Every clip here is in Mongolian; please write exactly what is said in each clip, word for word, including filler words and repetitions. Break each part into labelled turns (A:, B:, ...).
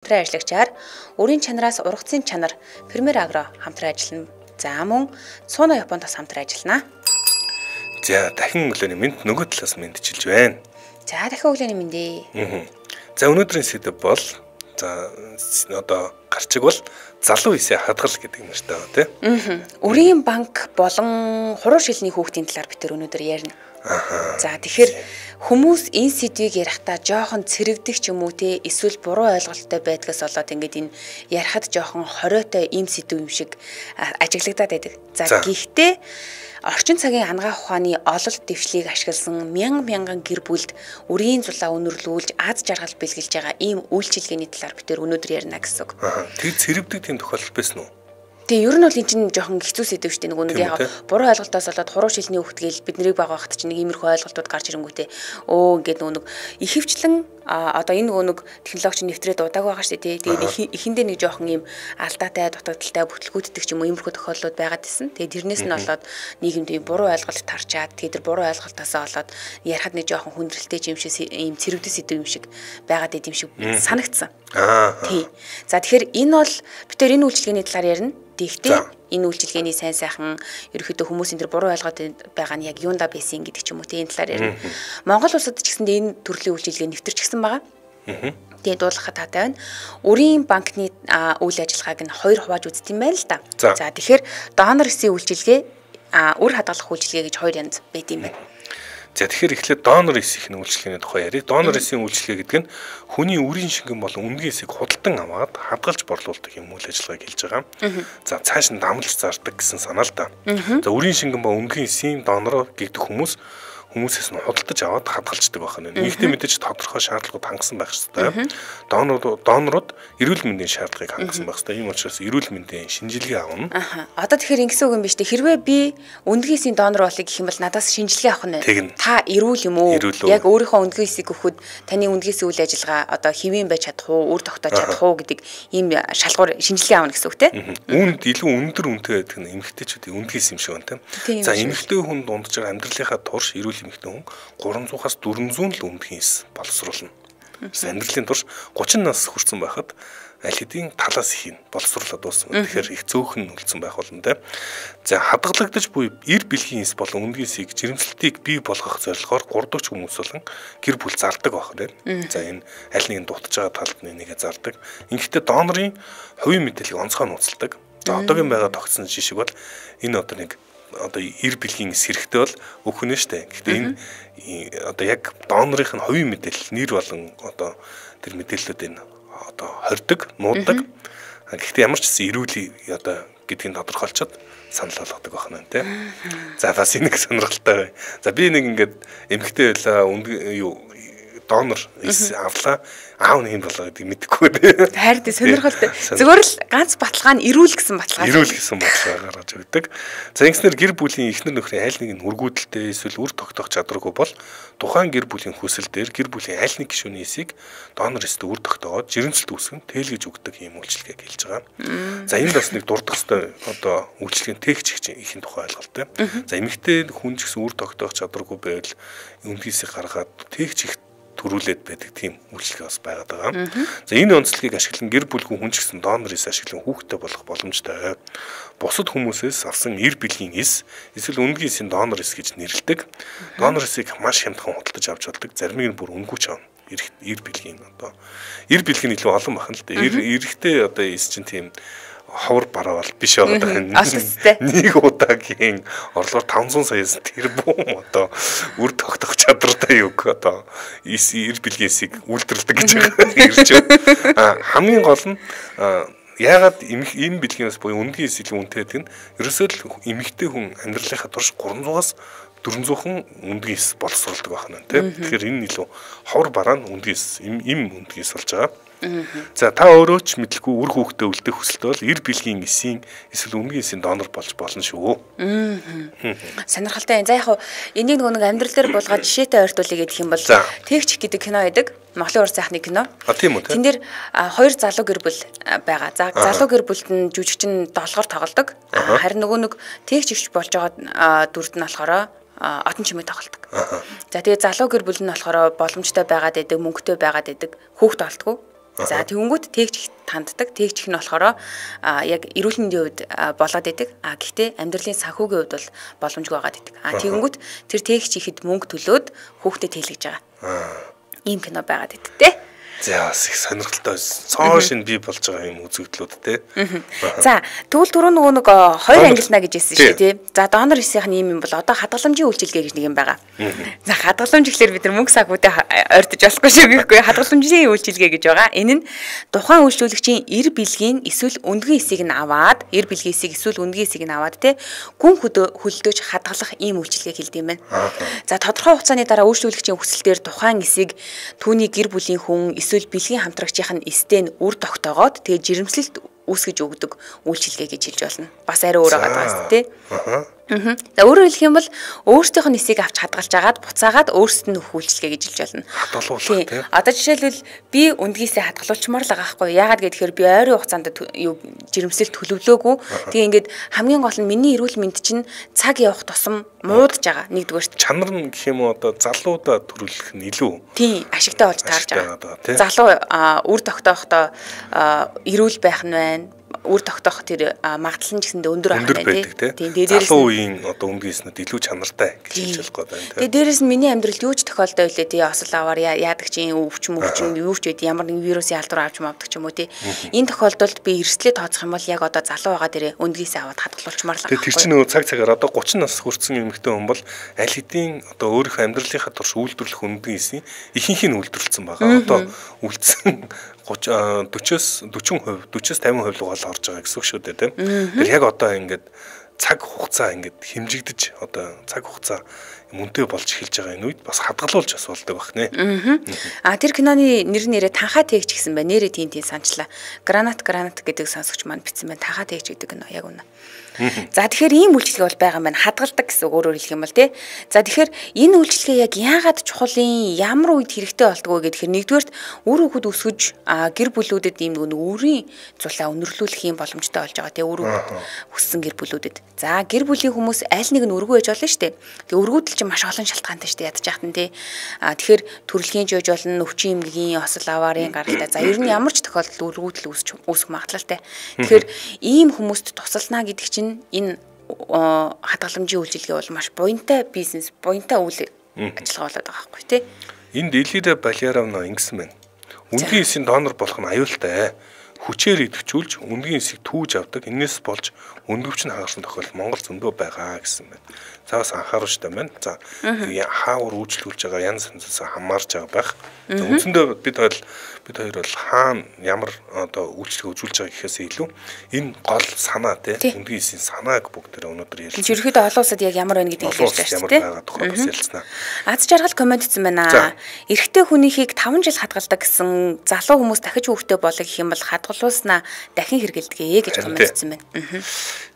A: Хамтран ажиллагчаар өрийн чанараас ургацын чанар Premier Agro хамтран ажиллана. За мөн Цууна Японд бас хамтран ажиллана.
B: За дахин өглөөний мэнд нөгөө талаас мэдчилж байна.
A: За дахин өглөөний мэндээ.
B: За өнөөдрийн сэдэв бол за одоо гарчиг бол залуу хисээ хадгал гэдэг юм шиг байна тийм.
A: Өрийн банк болон хуруу шилний хүүхдийн талаар бид өнөөдөр ярина. За тэгэхээр хүмүүс энэ сэдвийг ярихдаа жоохон цэрэгдэх ч юм уу те эсвэл буруу ойлголттой байдгаас болоод ингээд энэ ярихад жоохон хориотой ийм сэдв юм шиг ажиглагдаад байдаг. За гэхдээ орчин цагийн ангаа ухааны ололт дэвшлийг ашигласан мянган мянган гэр бүлд өрийн зулаа өнөрлүүлж аз жаргал бэлгэлж байгаа ийм үйлчилгээний талаар бид өнөөдөр ярина гэсэн үг.
B: Тэр цэрэгдэг тийм тохиолдол байсан уу?
A: Тэгээ ер нь бол энэ чинь жоохон хэцүү сэдв шүү дээ. Нэг нэг яг буруу ойлголтоос болоод хуруу шилний хөвгт гээл бид нарыг баг багт чинь нэг иймэрхүү ойлголтууд гарч ирэнгүүтээ өө ингээд нэг ихэвчлэн одоо энэ нөгөө нэг технологич нэвтрээд удааг байгаа шүү дээ. Тэгээд эхэндээ нэг жоохон ийм алдаатай дутагдaltaй бүтлгүүддэг ч юм уу иймэрхүү тохиолдлууд байгаад исэн. Тэгээд тэрнээс нь болоод нийгэмд ийм буруу ойлголт тарчаад тэгээд тэр буруу ойлголтоосоо болоод ярахад нэг жоохон хүндрэлтэй юм шиг ийм цэрэгдэл сэдв юм шиг байгаад идэм шиг санагдсан. Аа. Тий. За тэгэхээр энэ бол бид тэр энэ үйлчилгээний талаар ярина. Тэгтээ энэ үйлчилгээний сайн сайхан ерөөхдөө хүмүүсийн тэр буруу ойлгоод байгаа нь яг юунда байсан гэдэг ч юм уу тийм талаар ярина. Монгол улсад ч гэсэндээ энэ төрлийн үйлчилгээ нэвтэрчихсэн байгаа. Тэгээд дуулахад таатай байна. Өрийн банкны үйл ажиллагааг нь хоёр хувааж үзт юм байна л да. За тэгэхээр донор эсийн үйлчилгээ үр хадгалах үйлчилгээ гэж хоёр янз байд юм байна.
B: За тэгэхээр эхлээд донор эсийн үйлчилгээний тухай ярив. Донор эсийн үйлчилгээ гэдэг нь хүний үрийн шингэн болон үнгийн эсийг худалдан аваад хадгалж борлуулдаг юм үйл ажиллагааг хэлж байгаа. За цааш нь дамлж зардаг гэсэн санаа л да. За үрийн шингэн ба үнгийн эсийн донор гэдэг хүмүүс хүмүүсээс нь худалдаж аваад хадгалждаг байна. Нэгдээ мэдээж тодорхой шаардлагууд хангасан байх ёстой. Донорууд донорууд эрүүл мэндийн шаардлагыг хангасан байх ёстой. Ийм учраас эрүүл мэндийн шинжилгээ авна.
A: Аха. Одоо тэгэхээр ингэсэн үг юм биш үү? Хэрвээ би өндгийсийн донор болъё гэх юм бол надаас шинжилгээ авах нь та эрүүл юм уу? Яг өөрийнхөө өндгийсийг өгөхөд таны өндгийсийн үйл ажиллагаа одоо хэвэн байж чадах уу, үр тогтоож чадах уу гэдэг ийм шалгуур шинжилгээ авна гэсэн үг тийм.
B: Үүнд илүү өндөр үнэтэй байдаг нь эмэгтэйчүүдийн өндгийс юм шиг байна тийм. За эмэгтэй хүн дундаж байгаа амьдралынхаа турш эрүүл эмэгтэй хүн гурамзуухаас дөрвөнзүүн л өндгийн эс боловсруулна. Амьдралын турш гучин нас хүрсэн байхад аль хэдийн талаас их нь боловсруулаад дууссан. Тэгэхээр их цөөхөн үлдсэн байх болно те. За хадгалагдаж буй эр бэлгийн эс болон өндгийн эсийг жирэмслэлтийг бий болгох зорилгоор гурдагч хүмүүс болон гэр бүл зардаг байх нэ. За энэ аль нэгэн дутж байгаа талд нэгээ зардаг. Ингэхдээ донорын хувийн мэдээллийг онцгой нууцладаг. За одоогийн байгаа тогтсон жишээ бол энэ одоо нэг одоо эр бэлгийн эс хэрэгтэй бол өгөх нь штэ. Гэхдээ энэ одоо яг донорынх нь хувийн мэдээлэл нэр болон одоо тэр мэдээллүүд энэ одоо хордог, нуудаг. Гэхдээ ямар ч гэсэн эрүүл одоо гэдгийг тодорхойлцоод санал болгодог байна тийм. За бас энийг сонирхолтой. За би нэг ингээд эмэгтэй байлаа юу донор эс авлаа. Аав нь юм болоо гэдэг мэдэхгүй дээ.
A: Хайр дээ сонирхолтой. Зөвхөн л ганц баталгаа нь эрүүл гэсэн баталгаа.
B: Эрүүл гэсэн баталгаа гаргаж өгдөг. За ингэснээр гэр бүлийн эхнэр нөхрийн аль нэг нь үргүүдэлтэй эсвэл үр тогтоох чадваргүй бол тухайн гэр бүлийн хүсэл дээр гэр бүлийн аль нэг гишүүний эсийг донор эстэй үр тогтоогоод жирэмслэлт үүсгэн тэлгэж өгдөг юм үйлчилгээг хэлж байгаа. За энд бас нэг дурдах хэвээр одоо үйлчилгээний техник ихийн тухай ойлголттой. За эмэгтэй хүн ч гэсэн үр тогтоох чадваргүй байвал үндгийсийг гаргаад техник төрүүлээд байдаг тийм үйлчлэг бас байгаад байгаа. За энэ онцлогийг ашиглан гэр бүлгүй хүн ч гэсэн донор эс ашиглан хүүхдтэй болох боломжтой. Бусад хүмүүсээс авсан эр бэлгийн эс эсвэл өндгийн эсийн донор эс гэж нэрлэдэг. Донор эсийг маш хямдхан худалдаж авч болдог. Зарим нь бүр өнгүүч авна. Эр бэлгийн одоо эр бэлгийн илүү олон байна л да. Эр эрэхтэй одоо эс чинь тийм ховор бараа бол биш байгаа. Нэг удаагийн орлогоор таванзан саяас тэрбум одоо үр тогтох чадвартай юу одоо эр бэлгээсийг үйлдвэрлэдэг гэж байгаа. Хамгийн гол нь яагаад энэ бэлгээс буюу өндгийн эс илүү үнэтэй гэдэг нь ерөөсөө л эмэгтэй хүн амьдралынхаа турш гурамзуугаас дөрвөнзүүхэн өндгийн эс боловсруулдаг байна тийм. Тэгэхээр энэ илүү ховор бараа нь өндгийн эс им өндгийн эс болж байгаа. За та өөрөө ч мэдлгүй үр хүүхдээ үлдэх хүсэлтэй бол эр бэлгийн эсийн эсвэл өндгийн эсийн донор болж болно шүү.
A: Сонирхолтой. За яг хуу энийг нөгөө нэг амьдрал дээр булгаад жишээтэй ойртуулъя гэх юм бол Тэгч гэдэг кино байдаг. Монголын уран сайхны кино.
B: А тийм үү.
A: Тэн дээр хоёр залуу гэр бүл байгаа. За залуу гэр бүлд нь жүжигчин долгоор тоглодог. Харин нөгөө нэг Тэгч ихч болж байгаа дүрд нь болохоор одон чимээ тоглодог. За тэгээ залуу гэр бүл нь болохоор боломжтой байгаад байдаг, мөнгөтэй байгаад байдаг, хүүхд олдгоо. За тэгэнгүүт тэгж танддаг. Тэгж их нь болохоор яг эрүүл мэндийн хувьд болоод идэг. А гэхдээ амьдралын санхүүгийн хувьд бол боломжгүй байгаад идэг. А тэгэнгүүт тэр тэгж ихэд мөнгө төлөөд хүүхдэд тэлгэж байгаа. Ийм кино байгаад идэг те.
B: За их сонирхолтой цоо шин бий болж байгаа юм үзэгдлүүд те.
A: За тэгвэл түрүү нөгөө нэг хоёр ангилна гэж хэлсэн шүү дээ тий. За донор хийсийнх нь юм юм бол одоо хадгаламжийн үйлчилгээ гэж нэг юм байгаа. За хадгаламж гэхэлэр бид нар мөнгө санхүүдэд ойртож болохгүй шүү гэхгүй хадгаламжийн үйлчилгээ гэж байгаа. Энэ нь тухайн үйлчлүүлэгчийн эр бэлгийн эсвэл өндгөн эсийг нь аваад эр бэлгийн эсийг эсвэл өндгөн эсийг нь аваад тий гүн хөлдөөж хадгалах ийм үйлчилгээ хэлдэг юм байна. За тодорхой хугацааны дараа үйлчлүүлэгчийн хүсэлтээр тухайн эсийг түүний гэр бүлийн хүн эсвэл бэлгийн хамтрагчийн нь эстэй нь үр тогтоогоод тэгээ жирэмслэлт үүсгэж өгдөг үйлчилгээ гэж хэлж болно. Бас арай өөр байгаа тийм тий. Аа. За өөрөөр хэлэх юм бол өөрсдийнх нь эсийг авч хадгалж агаад буцаагаад өөрсдөд нь өгөх үйлчилгээ гэж хэлж болно.
B: Хадгалуулах тийм.
A: Одоо жишээлбэл би өндгийсээ хадгалуулчмаар л байгаа байхгүй. Яагаад гэхээр би ойрын хугацаанд юу жирэмслэлт төлөвлөөгүй. Тэгээ ингээд хамгийн гол нь миний эрүүл мэнд чинь цаг явах тусам муудаж байгаа нэгдүгээрт.
B: Чанар нь гэх юм уу одоо залуудаа төрүүлэх нь илүү.
A: Тийм ашигтай болж таарж байгаа. Залуу үр тогтоохдоо эрүүл байх нь байна. Үр тогтоох тэр магадлал нь гэсэндээ өндөр
B: байх байна тийм. Залуу үеийн одоо өмгийснүүд илүү чанартай гэж хэлж болох гэдэг.
A: Тэгээ дээрэс нь миний амьдралд юу ч тохиолдоо үлээ тий осол аваар яадаг чинь өвч мөвч юу ч үед ямар нэгэн вирусын халдвар авч мавдаг ч юм уу тий. Энэ тохиолдолд би эрсдлээ тооцох юм бол яг одоо залуу байгаа дээрээ өндгийсээ аваад хадгалуулчмаар л байгаа.
B: Тэр чинь нөгөө цаг цагаар одоо гучин нас хүрсэн эмэгтэй хүн бол аль хэдийн одоо өөрийнхөө амьдралынхаа турш үйлдвэрлэх өндгийсийн ихэнх нь үйлдвэрлэсэн байгаа. Одоо үлдсэн forty-с forty percent forty-с fifty percent руу гол орж байгаа гэсэн үг шүү дээ тийм. Тэр яг одоо ингээд цаг хугацаа ингээд хэмжигдэж одоо цаг хугацаа мөнтэй болж эхэлж байгаа энэ үед бас хадгалуулж бас болдог байх нэ.
A: Аа тэр киноны нэр нэрээ танхаа тээгч гэсэн байна. Нэрээ тийм тийм санчлаа. Гранат гранат гэдэг сонсогч маань бичсэн байна. Танхаа тээгч гэдэг кино яг үнэ. За тэгэхээр ийм үйлчлэг бол байгаа юм байна. Хадгалдаг гэсэн өөрөөр хэлэх юм бол тий. За тэгэхээр энэ үйлчлэгээ яг яагаад чухалын ямар үед хэрэгтэй болдгоо гэхээр нэгдүгээрт үр хөвгүүд өсгөж гэр бүлүүдэд ийм нэг өөрийн цулаа өнөрлүүлэх юм боломжтой болж байгаа тий. Үр хөвгүүд өссөн гэр бүлүүдэд. За гэр бүлийн хүмүүс аль нэг нь өргөө ээж болно шүү дээ. Тэгээ өргүүдэл чинь маш олон шалтгаантай шүү дээ ядаж яхад нь тий. А тэгэхээр төрөлхийн жиж болно, өвчин эмгэгийн осол аваарын гаралтай. За ер нь ямар ч тохиолдолд өргүүдэл үүсэх үүсэх магадлалтай. Тэгэхээр ийм хүмүүст тусалнаа гэдэг чинь энэ хадгаламжийн үйлчилгээ бол маш буянтай бизнес, буянтай үйл ажиллагаа болоод байгаа байхгүй тий.
B: Энд Элида Баляровна ингэсэн байна. Өндгийн эсийн донор болох нь аюултай. Хүчээр идэвхжүүлж өндгийн эсийг түүж авдаг. Энээс болж өндгөвч нь хагарсан тохиолдол Монгол зөндөө байгаа гэсэн байна. За бас анхааруулжтай байна. За хаавар үйлчлүүлж байгаа янз янзаас хамаарч байгаа байх. За үндсэндээ бид хоёр бид хоёр бол хаана ямар одоо үйлчлэг үзүүлж байгаа гэхээс илүү энэ гол санаа тий өндгийн эсийн санааг бүгдээ өнөөдөр ярьсан.
A: Ерөнхийдөө олон улсад яг ямар байна гэдгийг ярьж байна тий.
B: Ямар байгаа тухай бас ялцнаа.
A: Аз жаргал комент хийсэн байна. Эрэгтэй хүнийхийг таван жил хадгалдаг гэсэн залуу хүмүүс дахиж хүүхдээ болоо гэх юм бол хадгалуулснаа дахин хэрэгэлдэгэ гэж комент хийсэн байна.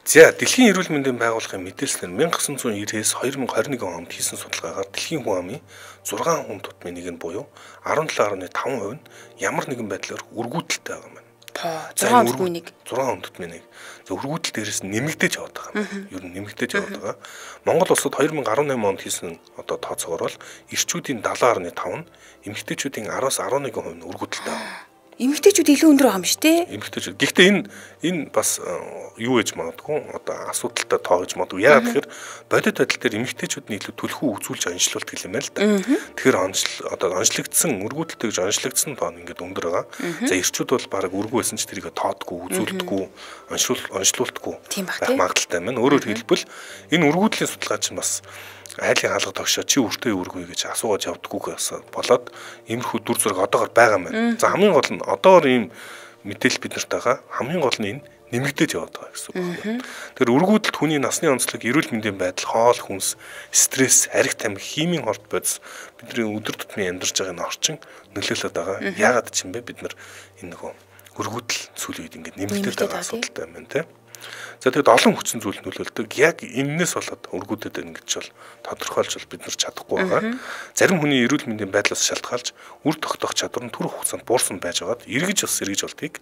B: За дэлхийн эрүүл мэндийн байгууллагын мэдээлэлээр nineteen ninety-ээс twenty twenty-one онд хийсэн судалгаагаар дэлхийн хүн амын six хүн тутмын нэг нь буюу seventeen point five percent нь ямар нэгэн байдлаар өргүүдэлтэй байгаа юм байна.
A: six хүн тутмын нэг.
B: six хүн тутмын нэг. За өргүүдэл дээрээс нь нэмэгдэж яваад байгаа юм. Ер нь нэмэгдэж яваад байгаа. Монгол улсад twenty eighteen онд хийсэн одоо тооцоогоор бол эрчүүдийн seven point five нь эмэгтэйчүүдийн ten-аас eleven percent нь өргүүдэлтэй байгаа.
A: Эмэгтэйчүүд илүү өндөр байгаа юм шүү дээ.
B: Эмэгтэйчүүд. Гэхдээ энэ энэ бас юу гэж магадгүй одоо асуудалтай тоо гэж магадгүй. Яагаад гэхээр бодит байдал дээр эмэгтэйчүүд нь илүү төлхөө үзүүлж онцлуулт гэх юм байна л да. Тэгэхээр онцл одоо онцлогдсон өргүүдэлтэй гэж онцлогдсон тоо нь ингээд өндөр байгаа. За эрчүүд бол баг өргөө байсан ч тэрийг тоодгүй, үзүүлдэггүй, онцлуул онцлуулдаггүй байх магадaltaй байна. Өөрөөр хэлбэл энэ өргүүдлийн судалгаа чинь бас айлын хаалга тогшоо чи өртөө өргөе гэж асуугаад явдаггүйгээс болоод иймэрхүү дүр зураг одоогор байгаа юм байна. За хамгийн гол нь одоогор ийм мэдээлэл бид нарт байгаа. Хамгийн гол нь энэ нэмэгдэж яваад байгаа гэсэн үг байна. Тэр өргүүдэлд хүний насны онцлог, эрүүл мэндийн байдал, хоол хүнс, стресс, ариг тамхи, химийн хорт бодис бидний өдөр тутмын амьдарч байгаа энэ орчин нөлөөлөд байгаа. Яагаад ч юм бэ бид нар энэ нөгөө өргүүдэл сүүлийн үед ингээд нэмэгдэж байгаа асуудалтай юм байна тийм. За тэгэд олон хүчин зүйл нөлөөлдөг. Яг энэс болоод өргүүдэд байна гэж бол тодорхойлж бол бид нар чадахгүй байгаа. Зарим хүний эрүүл мэндийн байдлаас шалтгаалж үр тогтоох чадвар нь түрүү хугацаанд буурсан байж байгаад эргэж бас эргэж болтгийг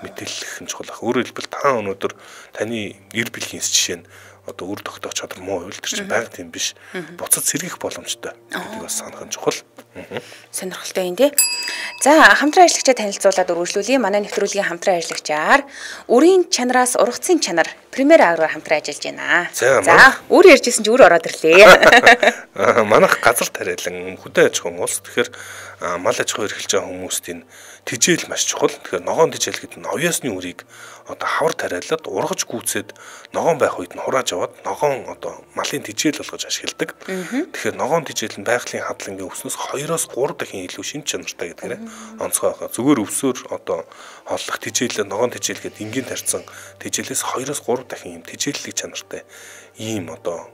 B: мэдээлэх нь чухал ах. Өөрөөр хэлбэл та өнөөдөр таны эр бэлгийн жишээ нь одоо үр тогтоох чадвар муу байвал тэр чинь байнга тийм биш. Буцаж сэргийх боломжтой. Гэдгийг бас санах нь чухал.
A: Сонирхолтой юм тий. За хамтран ажиллагчаа танилцуулаад өргөжлүүлье. Манай нэвтрүүлгийн хамтран ажиллагчаар үрийн чанараас ургацын чанар Премьер Агроор хамтран ажиллаж байна. За өөр ярьжсэн чи өөр ороод ирлээ.
B: Манайх газар тариалан хөдөө аж ахуйн улс. Тэгэхээр мал аж ахуй эрхэлж байгаа хүмүүст энэ тижээл маш чухал. Тэгэхээр ногоон тижээл гэдэг нь овёсны үрийг одоо хавар тариалаад ургаж гүйцээд ногоон байх үед нь хурааж аваад ногоон одоо малын тижээл болгож ашигладаг. Тэгэхээр ногоон тижээл нь байгалийн хадлагын өвснөөс хоёроос гурав дахин илүү шин чанартай гэдгээр онцгой байгаа. Зүгээр өвсөөр одоо холлох тижээл ногоон тижээл гэдэг энгийн тарьсан тижээлээс хоёроос гурав дахин юм тижээллэг чанартай ийм одоо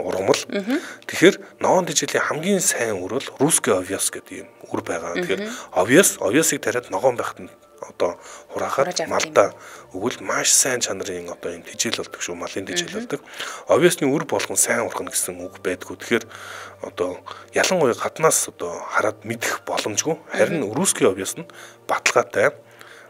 B: ургамал. Тэгэхээр ногоон тижээлийн хамгийн сайн үр бол русский овёс гэдэг юм үр байгаа. Тэгэхээр овёс овёсыг тариад ногоон байхад нь одоо хураахад малда өгвөл маш сайн чанарын одоо юм тижээл болдог шүү, малын тижээл болдог. Овёсны үр болгон сайн ургана гэсэн үг байдгүй. Тэгэхээр одоо ялангуяа гаднаас одоо хараад мэдэх боломжгүй. Харин русский овёс нь баталгаатай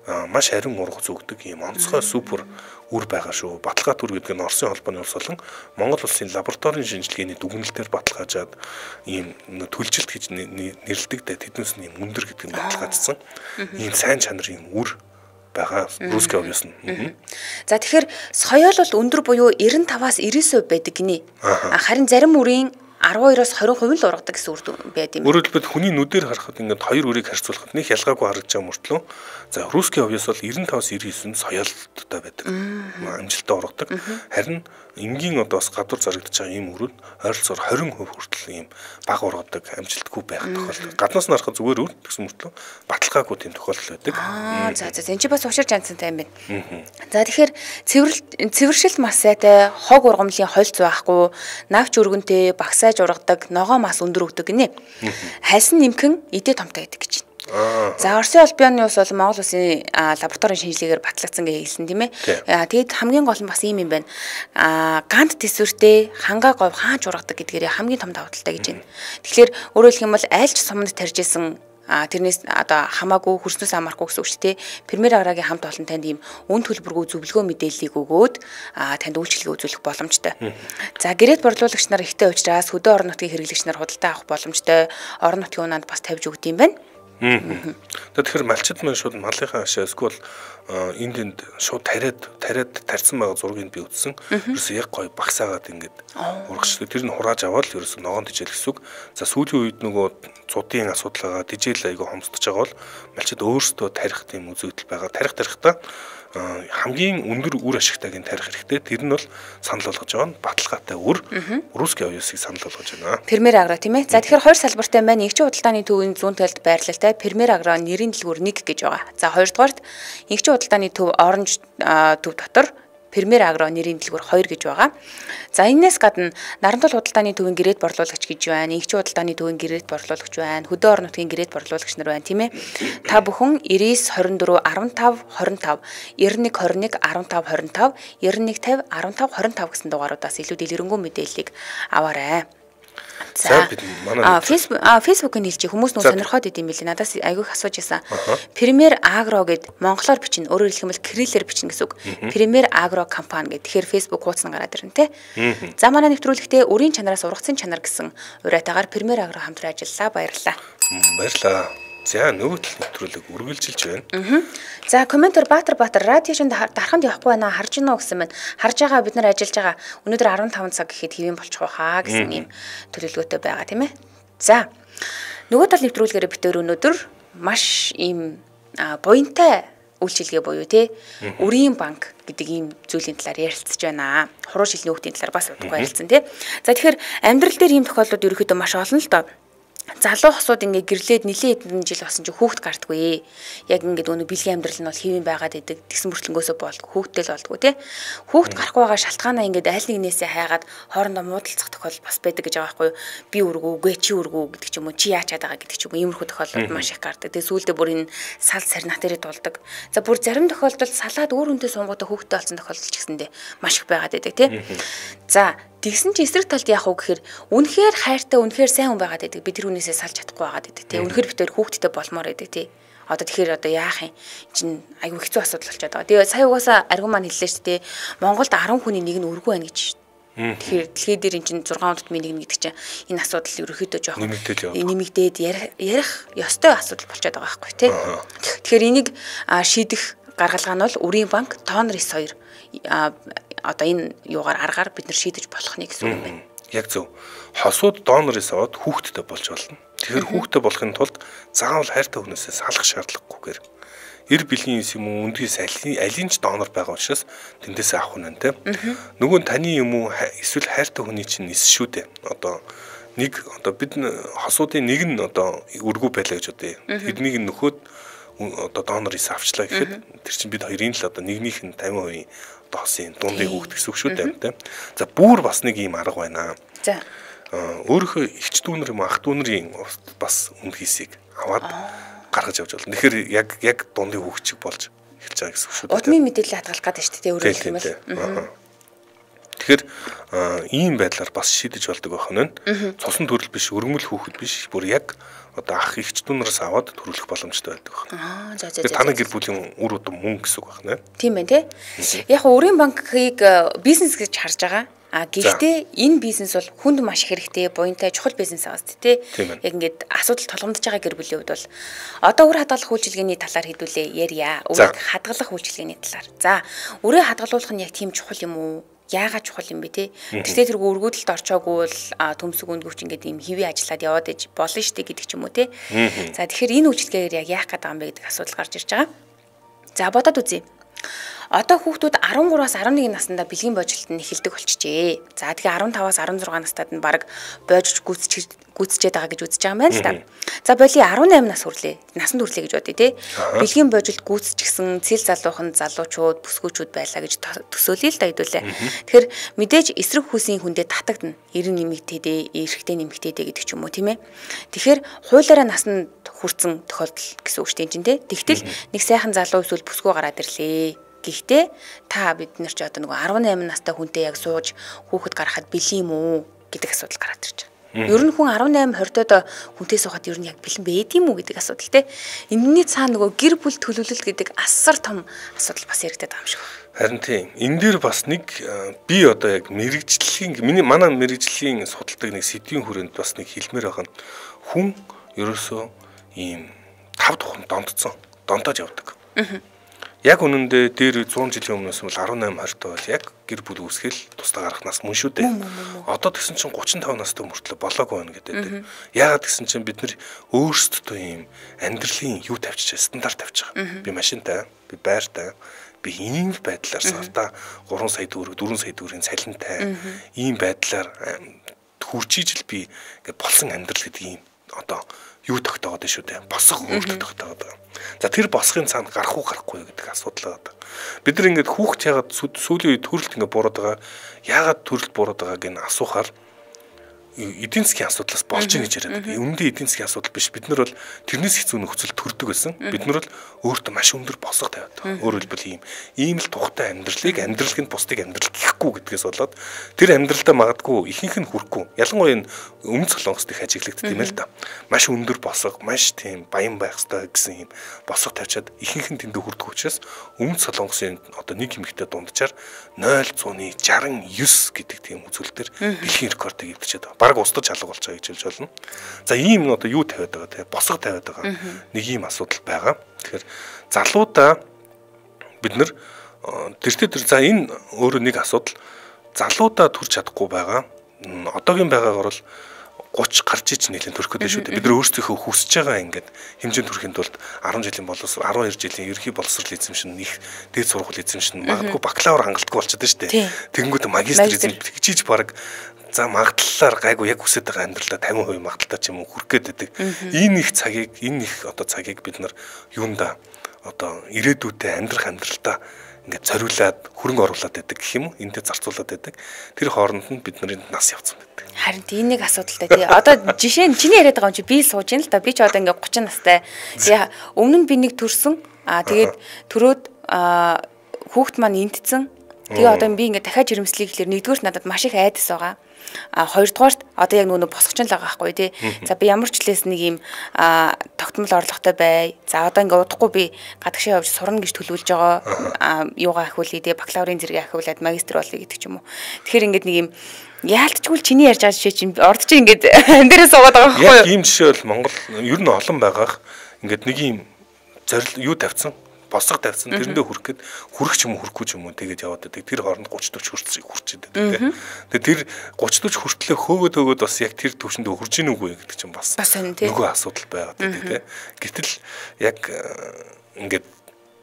B: маш харин ургац өгдөг юм онцгой супер үр байгаа шүү. Баталгаат үр гэдэг нь Оросын холбооны улс болон Монгол улсын лабораторийн шинжилгээний дүгнэлтээр баталгаажаад ийм төлжилт гэж нэрлэдэг дээ. Тэднээс нь юм өндөр гэдэг нь баталгаажсан. Ийм сайн чанарын үр байгаа русский овёс нь.
A: За тэгэхээр соёол бол өндөр буюу девяносто пять-аас девяносто percent байдаг гинэ. Харин зарим үрийн арван хоёроос двадцать percent л ургадаг гэсэн үр байд юм.
B: Өөрөөр хэлбэл хүний нүдээр харахад ингээд хоёр үрийг харьцуулахад нэг ялгаагүй харагдаж байгаа мөртлөө за русский овёс бол девяносто пять-аас девяносто девять соёолтой байдаг. Амжилттай ургадаг. Харин энгийн одоо бас гадуур зарагдаж байгаа ийм үрүүд ойролцоогоор twenty percent хүртэл ийм бага ургадаг амжилтгүй байх тохиолдол. Гаднаас нь харахад зүгээр үр гэсэн мөртлөө баталгаагүй тийм тохиолдол байдаг.
A: Аа за за энэ ч бас учир жанцантай юм байна. За тэгэхээр цэвэрлэл цэвэршил маш сайтай хог ургамлын холц байхгүй, навч өргөнтэй багсаа ургадаг, ногоо мас өндөр өгдөг гинэ. Хальсан нэмхэн эдээ томтой гэдэг гэж байна. За Оросын холбооны улс бол Монгол улсын лабораторийн шинжилгээгээр батлагдсан гэж хэлсэн тийм ээ. Тэгэд хамгийн гол нь бас ийм юм байна. Гант төсвөртэй хангаа говь хаач ургадаг гэдгээр хамгийн том давуу талтай гэж байна. Тэгэхээр өөрөөр хэлэх юм бол айлч суманд тарж исэн а тэрнээс одоо хамаагүй хөрснөөс амархгүй гэсэн үг шүү дээ. Премьер Аграгийн хамт олон танд ийм үн төлбөргүй зөвлөгөө мэдээллийг өгөөд танд үйлчлэгээ үзүүлэх боломжтой. За гэрээт борлуулагч нар ихтэй учраас хөдөө орон нутгийн хэрэглэгч нар худалдаа авах боломжтой. Орон нутгийн унаанд бас тавьж өгд юм байна.
B: Тэгэхээр малчид маань шууд малынхаа ашаа эсвэл энд энд шууд тариад тариад тарьсан байгаа зургийг би үзсэн. Ерөөсөө яг гоё багсаагаад ингээд урагш. Тэр нь хурааж аваад ерөөсөө ногоон тижээл гэсэн үг. За сүүлийн үед нөгөө цудын асуудал байгаа тижээл айгүй хомсдож байгаа бол малчид өөрсдөө тарих тийм үзэгдэл байгаа. Тарих тарихтаа хамгийн өндөр үр ашигтайг тарих хэрэгтэй. Тэр нь бол санал болгож байгаа нь баталгаатай үр русский овёсыг санал болгож байна.
A: Премьер Агро тийм ээ. За тэгэхээр хоёр салбартай байна. Нэгжийн худалдааны төвийн зүүн талд байрлалтай Премьер Агро нэрийн дэлгүүр one гэж байгаа. За хоёрдугаарт нэгжийн худалдааны төв Оранж төв дотор Премьер Агро нэрийн дэлгүүр two гэж байгаа. За энэс гадна Нарантал худалдааны төвийн гэрээт борлуулагч гэж байна. Нэгжийн худалдааны төвийн гэрээт борлуулагч байна. Хөдөө орон нутгийн гэрээт борлуулагч нар байна тийм ээ. Та бүхэн девяносто twenty-four fifteen twenty-five ninety-one twenty-one fifteen twenty-one fifty fifteen twenty-five гэсэн дугааруудаас илүү дэлгэрэнгүй мэдээллийг аваарай. За Facebook Facebook-ын хэлж хүмүүс нөө сонирхоод идэм билээ. Надаас айгүйх асууж байсан. Премьер Агро гэд монголоор бичнэ. Өөрөөр хэлэх юм бол кириллээр бичнэ гэсэн үг. Премьер Агро компани гэд. Тэгэхээр Facebook хуудас нь гараад ирнэ те. За манай нэвтрүүлэгтээ үрийн чанараас ургацын чанар гэсэн уриатаагаар Премьер Агро хамтран ажиллалаа. Баярлалаа.
B: Баярлалаа. За нөгөө тал нэвтрүүлэг үргэлжилж байна.
A: За комментор Баатар Баатар радиошнд дарханд явахгүй байна харж гинөө гэсэн байна. Харж байгаа бид нар ажиллаж байгаа. Өнөөдөр fifteen цаг гэхэд хэвэн болчих واخаа гэсэн юм төлөвлөгөөтэй байгаа тийм ээ. За нөгөө тал нэвтрүүлгээр бид өнөөдөр маш ийм буянтай үйлчилгээ буюу тий үрийн банк гэдэг ийм зүйлийн талаар ярилцж байна. Хуруу шилний хүүхдийн талаар бас удахгүй ярилцсан тий. За тэгэхээр амьдрал дээр ийм тохиолдлууд ерөөхдөө маш олон л доо. Залуу хосууд ингээ гэрлээд нэлээд хэдэн жил болсон чи хүүхд гартгүй. Яг ингээд өнөө бэлгийн амьдрал нь бол хэвэн байгаад идэг. Тэгсэн мөртлөнгөөсөө болдгоо хүүхдтэй л болдгоо тий. Хүүхд гарахгүй байгаа шалтгаанаа ингээд айл нэгнээсээ хайгаад хоорондоо муудалцах тохиолдол бас байдаг гэж байгаа байхгүй юу? Би үргүү, үгүй чи үргүү гэдэг ч юм уу, чи яачаад байгаа гэдэг ч юм уу. Иймэрхүү тохиолдол маш их гардаг. Тэгээ сүүлдээ бүр энэ сал сарнат дээрээ дулдаг. За бүр зарим тохиолдолд салаад өөр хүнтэй сунгуудаа хүүхдтэй болсон тохиолдол ч гэсэндээ маш их байгаад идэг тий. За тэгсэн чи эсрэг талд яах вэ гэхээр үнэхээр хайртай үнэхээр сайн хүн байгаад байдаг. Би тэр хүнээсээ салж чадахгүй байгаад байдаг тий. Үнэхээр битээр хүүхдтэй болмоор байдаг тий. Одоо тэгэхээр одоо яах юм? Чин айгүй хэцүү асуудал болчиход байгаа. Тэгээ сая угаасаа аргум маань хэллээ шүү дээ. Монголд ten хүний нэг нь өргөө байна гэж. Тэгэхээр дэлхий дээр эн чинь зургаан удмын нэг гэдэг чинь энэ асуудал ерөөхдөө жоохон нэмэгдээд ярих ёстой асуудал болчиход байгаа байхгүй тий. Тэгэхээр энийг шийдэх гаргалгаа нь бол Өрийн банк, Тонрис хоёр одоо энэ юугаар аргаар бид нар шийдэж болох нэг гэсэн үг юм байна.
B: Яг зөв. Хосууд Донрис аваад хүүхдтэй болж болно. Тэгэхээр хүүхдтэй болохын тулд заавал хайртай хүнээсээ салах шаардлагагүйгээр эр бэлгийн юм уу үндгээс алин ч донор байгаа учраас тэндээс авах нь тэ. Нөгөө нь таны юм уу эсвэл хайртай хүний чинь эс шүү дээ. Одоо нэг одоо бид хосуудын нэг нь одоо өргүү байлаа гэж бодъё. Тэднийг нөхөд одоо донор эс авчлаа гэхэд тэр чинь бид хоёрын л одоо нэгнийх нь тавин хувийн одоо хосын дундын хүүхд гэсэн үг шүү дээ тэ. За бүр бас нэг юм арга байна.
A: За
B: өөрийнхөө ихч дүүнэр юм ах дүүнэрийн бас үндгийсийг аваад гаргаж явж болно. Тэгэхээр яг яг дундын хүүхчиг болж эхэлж байгаа гэсэн үг шүү дээ.
A: Удмын мэдээлэл хадгалах гэдэг шүү дээ өөрөөр хэлбэл.
B: Тэгэхээр ийм байдлаар бас шийдэж болдог байх нь. Цусан төрөл биш, өргөмөл хүүхэд биш, бүр яг одоо ах ихч дүүнээс аваад төрүүлэх боломжтой байдаг байна.
A: Аа за за за.
B: Таны гэр бүлийн үр удам мөн гэсэн үг байна.
A: Тийм байна тий. Яг Өрийн банкыг бизнес гэж харж байгаа. А гэхдээ энэ бизнес бол хүнд маш хэрэгтэй, буянтай чухал бизнес аваад тий. Яг ингээд асуудал толгомдож байгаа гэр бүлийн хувьд бол одоо үр хадгалах үйлчилгээний талаар хэдүүлээ ярья. Үрийг хадгалах үйлчилгээний талаар. За, үрийг хадгалуулах нь яг тийм чухал юм уу? Яагаад чухал юм бэ те? Тэртээ тэргүй өргөдөлд орчоогүй бол төмсөг үндгүүч ингээд юм хэвээ ажиллаад яваад иж болно штэ гэдэг ч юм уу те. За тэгэхээр энэ үйлчилгээгээр яг яах гэдэг юм бэ гэдэг асуудал гарч ирж байгаа. За бодоод үзье. Одоо хүүхдүүд арван гураас арван нэг наснда бэлгийн боожлолт нь эхэлдэг болчихжээ. За тэгээ арван таваас арван зургаан настад нь баг боожж гүйцэж гүйцчээд байгаа гэж үзэж байгаа юм байна л да. За боли арван найман нас хүрлээ. Насанд хүрлээ гэж бодъё те. Бэлгийн боожлолт гүйцчихсэн цэл залуухан залуучууд, бүсгүүчүүд байлаа гэж төсөөлөе л да хэдүүлээ. Тэгэхээр мэдээж эсрэг хүүсийн хүндээ татагдана. Эрен нэмэгдээдээ, эрэгтэй нэмэгдээдээ гэдэг ч юм уу тийм ээ. Тэгэхээр хуулиараа насанд хүрсэн тохиолдол гэсэн үг шүү дээ те. Тэгтэл нэг сайхан залуу эсвэл бүсгүй гараад ирлээ. Гэхдээ та бид нар ч одоо нөгөө арван найман настай хүнтэй яг сууж хүүхэд гаргахад бэлэн юм уу гэдэг асуудал гараад ирж байгаа. Ер нь хүн арван найман хордоод хүнтэй суухад ер нь яг бэлэн байд юм уу гэдэг асуудал те. Энэний цаана нөгөө гэр бүл төлөвлөлт гэдэг асар том асуудал бас яригдаад байгаа юм шиг байна.
B: Харин тийм энэ дээр бас нэг би одоо яг мэрэгжлийн миний манай мэрэгжлийн судалдаг нэг сэдвийн хүрээнд бас нэг хэлмээр байгаа нь хүн ерөөсөө ийм тав тухам дондцсон дондож явдаг. Яг үнэндээ дээр зуун жилийн өмнөөс бол арван найман хортой бол яг гэр бүл үүсгэл тусдаа гарах нас мөн шүү дээ. Одоо тэгсэн чинь гучин таван настай мөртлөө болоогүй байна гэдэг. Яагаад гэсэн чинь бид нар өөрсдөө ийм амьдралын юу тавьчих стандарт тавьчих. Би машинтай, би байртай, би ийм байдлаар сартаа гурван сая төгрөг, дөрвөн сая төгрөгийн цалинтай ийм байдлаар хүрчиж л би ингээд болсон амьдрал гэдэг ийм одоо юу тогтоогод шүү дээ. Босох өөртөө тогтоогод байгаа. За тэр босхын цаана гарах уу гарахгүй гэдэг асуудал байгаа. Бид нар ингээд хүүхд яагаад сүүлийн үед төрөлт ингээд бурууд байгаа, яагаад төрөлт бурууд байгааг нь асуухаар эдийн засгийн асуудлаас болж ийн гэж яриад байгаа. Үүндээ эдийн засгийн асуудал биш. Бид нар бол тэрнээс хэцүү нөхцөл төрдөг байсан. Бид нар бол өөртөө маш өндөр босго тавиад байгаа. Өөрөөр хэлбэл ийм ийм л тухтай амьдралыг амьдралын бусдыг амьдрал гэхгүй гэдгээс болоод тэр амьдралдаа магадгүй ихэнх нь хүрэхгүй. Ялангуяа энэ өмнө солонгост их ажиглагддаг юм л да. Маш өндөр босго, маш тийм баян байх хэрэгтэй гэсэн ийм босго тавьчаад ихэнх нь тэндээ хүрдэг учраас өмнө солонгосын одоо нэг эмэгтэй дунджаар нуль цуны шестьдесят девять гэдэг тийм үзүүлэлтээр дэлхийн рекордыг эвдчихэд байгаа. Бараг устдаж алга болж байгаа гэж хэлж болно. За ийм нь одоо юу тавиад байгаа те босго тавиад байгаа. Нэг ийм асуудал байгаа. Тэгэхээр залуудаа бид нар тэртээ тэр за энэ өөрөө нэг асуудал залуудаа төрж чадахгүй байгаа. Одоогийн байгаагаар бол гуч гарч ич нэлээд төрөх гэдэг шүү дээ. Бид нар өөрсдийнхөө хүсэж байгаа ингээд хэмжээнд хүрэхин тулд арван жилийн боловсрол арван хоёр жилийн ерхий боловсрол эзэмшин их дээд сургууль эзэмшин магадгүй бакалавр хангалтгүй болчиход шүү дээ. Тэгэнгүүт магистр эзэм хичээж баг за магадлалаар гайгүй яг хүсэж байгаа амьдралаа тавин хувийн магадлалтай ч юм уу хүрэх гээд байдаг. Энэ их цагийг энэ их одоо цагийг бид нар юунда одоо ирээдүйдээ амьдрах амьдралтаа ингээд зориулаад хөрөнгө оруулаад байдаг гэх юм уу энэтэй зарцуулаад байдаг. Тэр хооронд нь бид нарын нас явцсан байдаг.
A: Харин тийм нэг асуудалтай тий. Одоо жишээ нь чиний яриад байгаа юм чи би сууж ин л та би ч одоо ингээд гучин настай. Тэгээ өмнө нь би нэг төрсөн аа тэгээд төрөөд хүүхэд маань энтцэн Тэгээ одоо би ингээд дахиад жирэмслэе гэхэлэр нэгдүгürt надад маш их айдас байгаа. А хоёрдугаарт одоо яг нөгөө босгоч л байгаа байхгүй тий. За би ямар ч хэлээс нэг юм тогтмол орлоготой бай. За одоо ингээд удахгүй би гадагшаа явж сурна гэж төлөвлөж байгаа. Юугаа ахиулъя тий, бакалаврын зэрэг ахиулаад магистр болъё гэдэг ч юм уу. Тэгэхээр ингээд нэг юм яалтчгүй чиний ярьж байгаа жишээ чинь орд чи ингээд амдэрээ суугаад байгаа байхгүй юу?
B: Яг ийм жишээ бол Монгол ер нь олон байгаах. Ингээд нэг юм зорил юу тавьсан, босго тавьсан тэрэндээ хүрэх гээд хүрэх ч юм уу хүрэхгүй ч юм уу тэгээд яваад байдаг. Тэр хооронд гуйч дөрч хүрч хүрчээд байдаг. Тэгээд тэр гуйч дөрч хүртлээ хөөгөөд хөөгөөд бас яг тэр төвшөнд хүрж ийн үгүй гэдэг чинь бас нөгөө асуудал байгаад байдаг. Гэтэл яг ингээд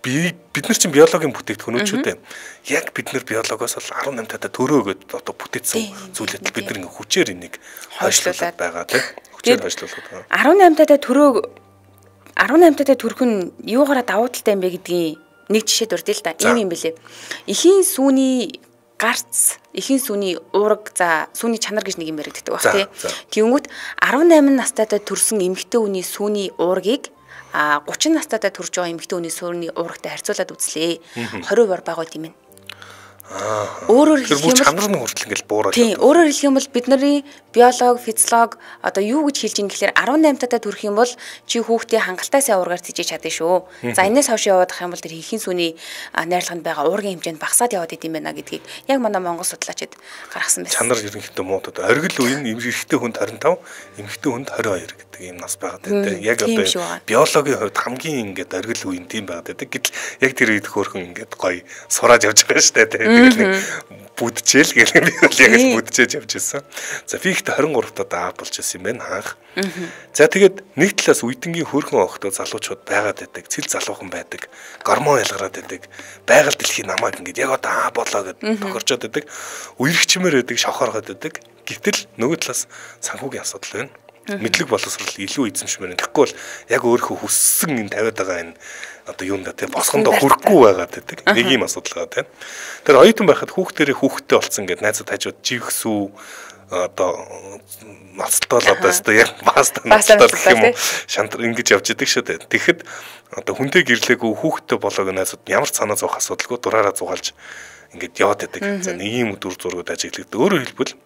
B: бид нар чинь биологийн бүтээгдэхүүнүүд шүү дээ. Яг бид нар биологоос бол арван наймтай төрөөгөөд одоо бүтээсэн зүйлээд бид нар ингээ хүчээр энийг хойшлуулад байгаа тийм. Хүчээр хойшлуулад байгаа.
A: арван наймтай төрөө арван наймтай төрөх нь юугаараа давуу талтай юм бэ гэдгийг нэг жишээ дурдъя л да. Ийм юм бэлээ. Эхийн сүүний гарц, эхийн сүүний уураг, за сүүний чанар гэж нэг юм яригддаг баг тий. Тэгэнгүүт арван найман настайдаа төрсэн эмэгтэй хүний сүүний уургийг а гучин настайдаа төрж байгаа эмэгтэй хүний сүүний уурагтай харьцуулаад үзлээ. двадцать бор бага гэм юм.
B: Аа.
A: Өөрөөр хэлэх юм бол
B: чанар нь хүртэл ингээл буураад.
A: Тийм, өөрөөр хэлэх юм бол бидний биолог, физиолог одоо юу гэж хэлж ин гэхээр арван наймтайдаа төрөх юм бол чи хүүхдээ хангалттай сайн уургаар цэжиж чадна шүү. За энэс хойш яваад ах юм бол тэр хийхин сүний найрлаганд байгаа уургийн хэмжээнд багасаад яваад идэм байна гэдгийг яг манай монгол судлаачид гаргасан байсан.
B: Чанар ерөнхийдөө муудад оргил үеийн эмэгтэй хүнд двадцать пять, эмэгтэй хүнд двадцать two гэдэг ийм нас байгаад байдаг. Яг одоо биологийн хувьд хамгийн ингээд оргил үеийн тийм байгаад байдаг. Гэтэл яг тэр үед хөөрхөн ингээд гоё сураад явж байгаа шүү дээ. Бүдчээл гэх юм бол яг л бүдчээж явж байсан. За фигт двадцать three удаа аав болж ирсэн юм байна хаах. За тэгээд нэг талаас үедэнгийн хөөрхөн охтоо залуучууд байгаад байдаг, цэл залуухан байдаг, гормон ялгараад байдаг, байгаль дэлхийн намайг ингээд яг одоо аа болоо гэд тохирчод байдаг, үерхчмээр байдаг, шохооргоод байдаг. Гэтэл нөгөө талаас санхүүгийн асуудал байна. Мэдлэг боловсрол илүү эзэмшмээр байна. Тэгэхгүй бол яг өөрийнхөө хүссэн энэ тавиад байгаа энэ одоо юунда тийм босгондоо хүрэхгүй байгаад байдаг. Нэг юм асуудал байгаа тийм. Тэр оюутан байхад хүүхдэрээ хүүхдтэй болсон гэд найзууд хажууд живгсүү одоо мацтал одоо өстой яг паста мацтал гэх юм уу шантар ингэж явж идэг шүү дээ. Тэгэхэд одоо хүнтэй гэрлээгүй хүүхдтэй болоог найзууд ямар ч санаа зовх асуудалгүй дураараа зугаалж ингэж яваад байдаг. За нэг юм дүр зургууд ажиглагддаг. Өөрөөр хэлбэл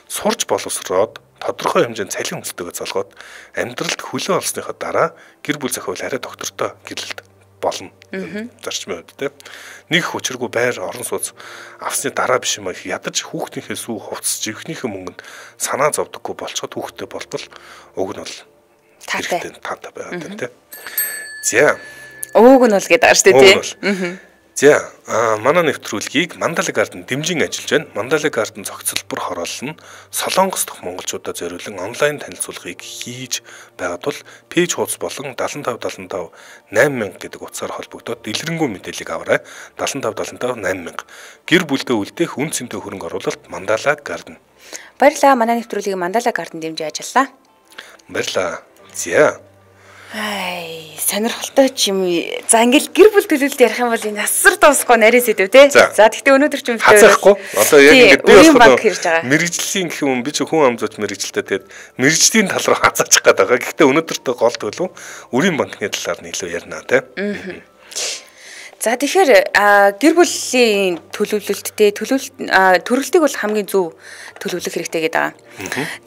B: сурч боловсроод тодорхой хэмжээнд цалин хөлтөөгөө залгоод амьдралд хөлөө олсныхоо дараа гэр бүл зохиол арай доктортой гэрлэлт болно. Зарчмын үед тийм. Нэг хүчрэггүй байр орон сууц авсны дараа биш юм аа ядаж хүүхдийнхээ сүү хувцс живхнийхээ мөнгөнд санаа зовдөггүй болцоход хүүхдтэй болбол уг нь бол
A: таатай
B: таатай байгаад тийм. За.
A: Уг нь бол гэдэг байгаа шүү дээ тийм.
B: За манай нэвтрүүлгийг Mandala Garden дэмжин ажиллаж байна. Mandala Garden зохицолбор хороолол нь Солонгос дахь монголчуудад зориулан онлайн танилцуулгыг хийж байгаа тул пэйж хуудас болон seven five seven five eight thousand гэдэг утсаар холбогдоод дэлгэрэнгүй мэдээллийг аваарай. seven five seven five eight thousand гэр бүлдээ үлдээх үн цэнтэй хөрөнгө оруулалт Mandala Garden.
A: Баярлалаа. Манай нэвтрүүлгийг Mandala Garden дэмжиж ажиллаа.
B: Баярлалаа. За
A: Ай, сонирхолтой ч юм. За ингээл гэр бүл төлөвлөлт ярих юм бол энэ асар дуусахгүй нарийн сэдв те. За тэгэхдээ өнөөдөр ч юм
B: хацахгүй. Одоо яг ингээд би болохоор мэрэгжлийн гэх юм би ч хүн амзууч мэрэгжилтэй тэгээд мэрэгжлийн тал руу хазаачих гээд байгаа. Гэхдээ өнөөдөртөө гол төлөв үрийн банкны талаар нь илүү ярина те.
A: За тэгэхээр гэр бүлийн төлөвлөлттэй төлөвлөлт төрөлтийг бол хамгийн зөв төлөвлөх хэрэгтэй гэдэг байгаа.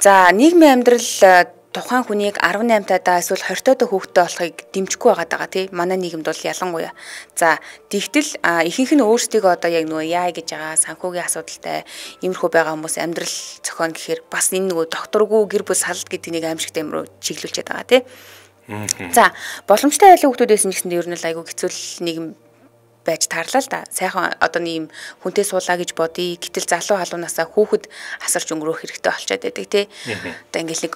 A: За нийгмийн амьдрал тухайн хүнийг eighteen тадаа эсвэл twenty тадаа хүүхдтэй болохыг дэмжихгүй байгаад байгаа тий. Манай нийгэмд бол ялангуяа. За тэгтэл ихэнх нь өөрсдийгөө одоо яг нөгөө яа гэж байгаа санхүүгийн асуудалтай иймэрхүү байгаа хүмүүс амьдрал зохион гэхээр бас энэ нөгөө докторгүй гэр бүл салалт гэдэг нэг аимшигтай юм руу чиглүүлчихэд байгаа тий. За боломжтой айлын хүүхдүүдээс нь гэсэндээ ер нь л айгүй хэцүү нийгэм байж таарлаа л да. Сайхан одоо нэм хүнтэй суулаа гэж бодъё. Гэтэл залуу халуунасаа хүүхэд асарч өнгөрөх хэрэгтэй болчиход байдаг тий. Одоо ингээл нэг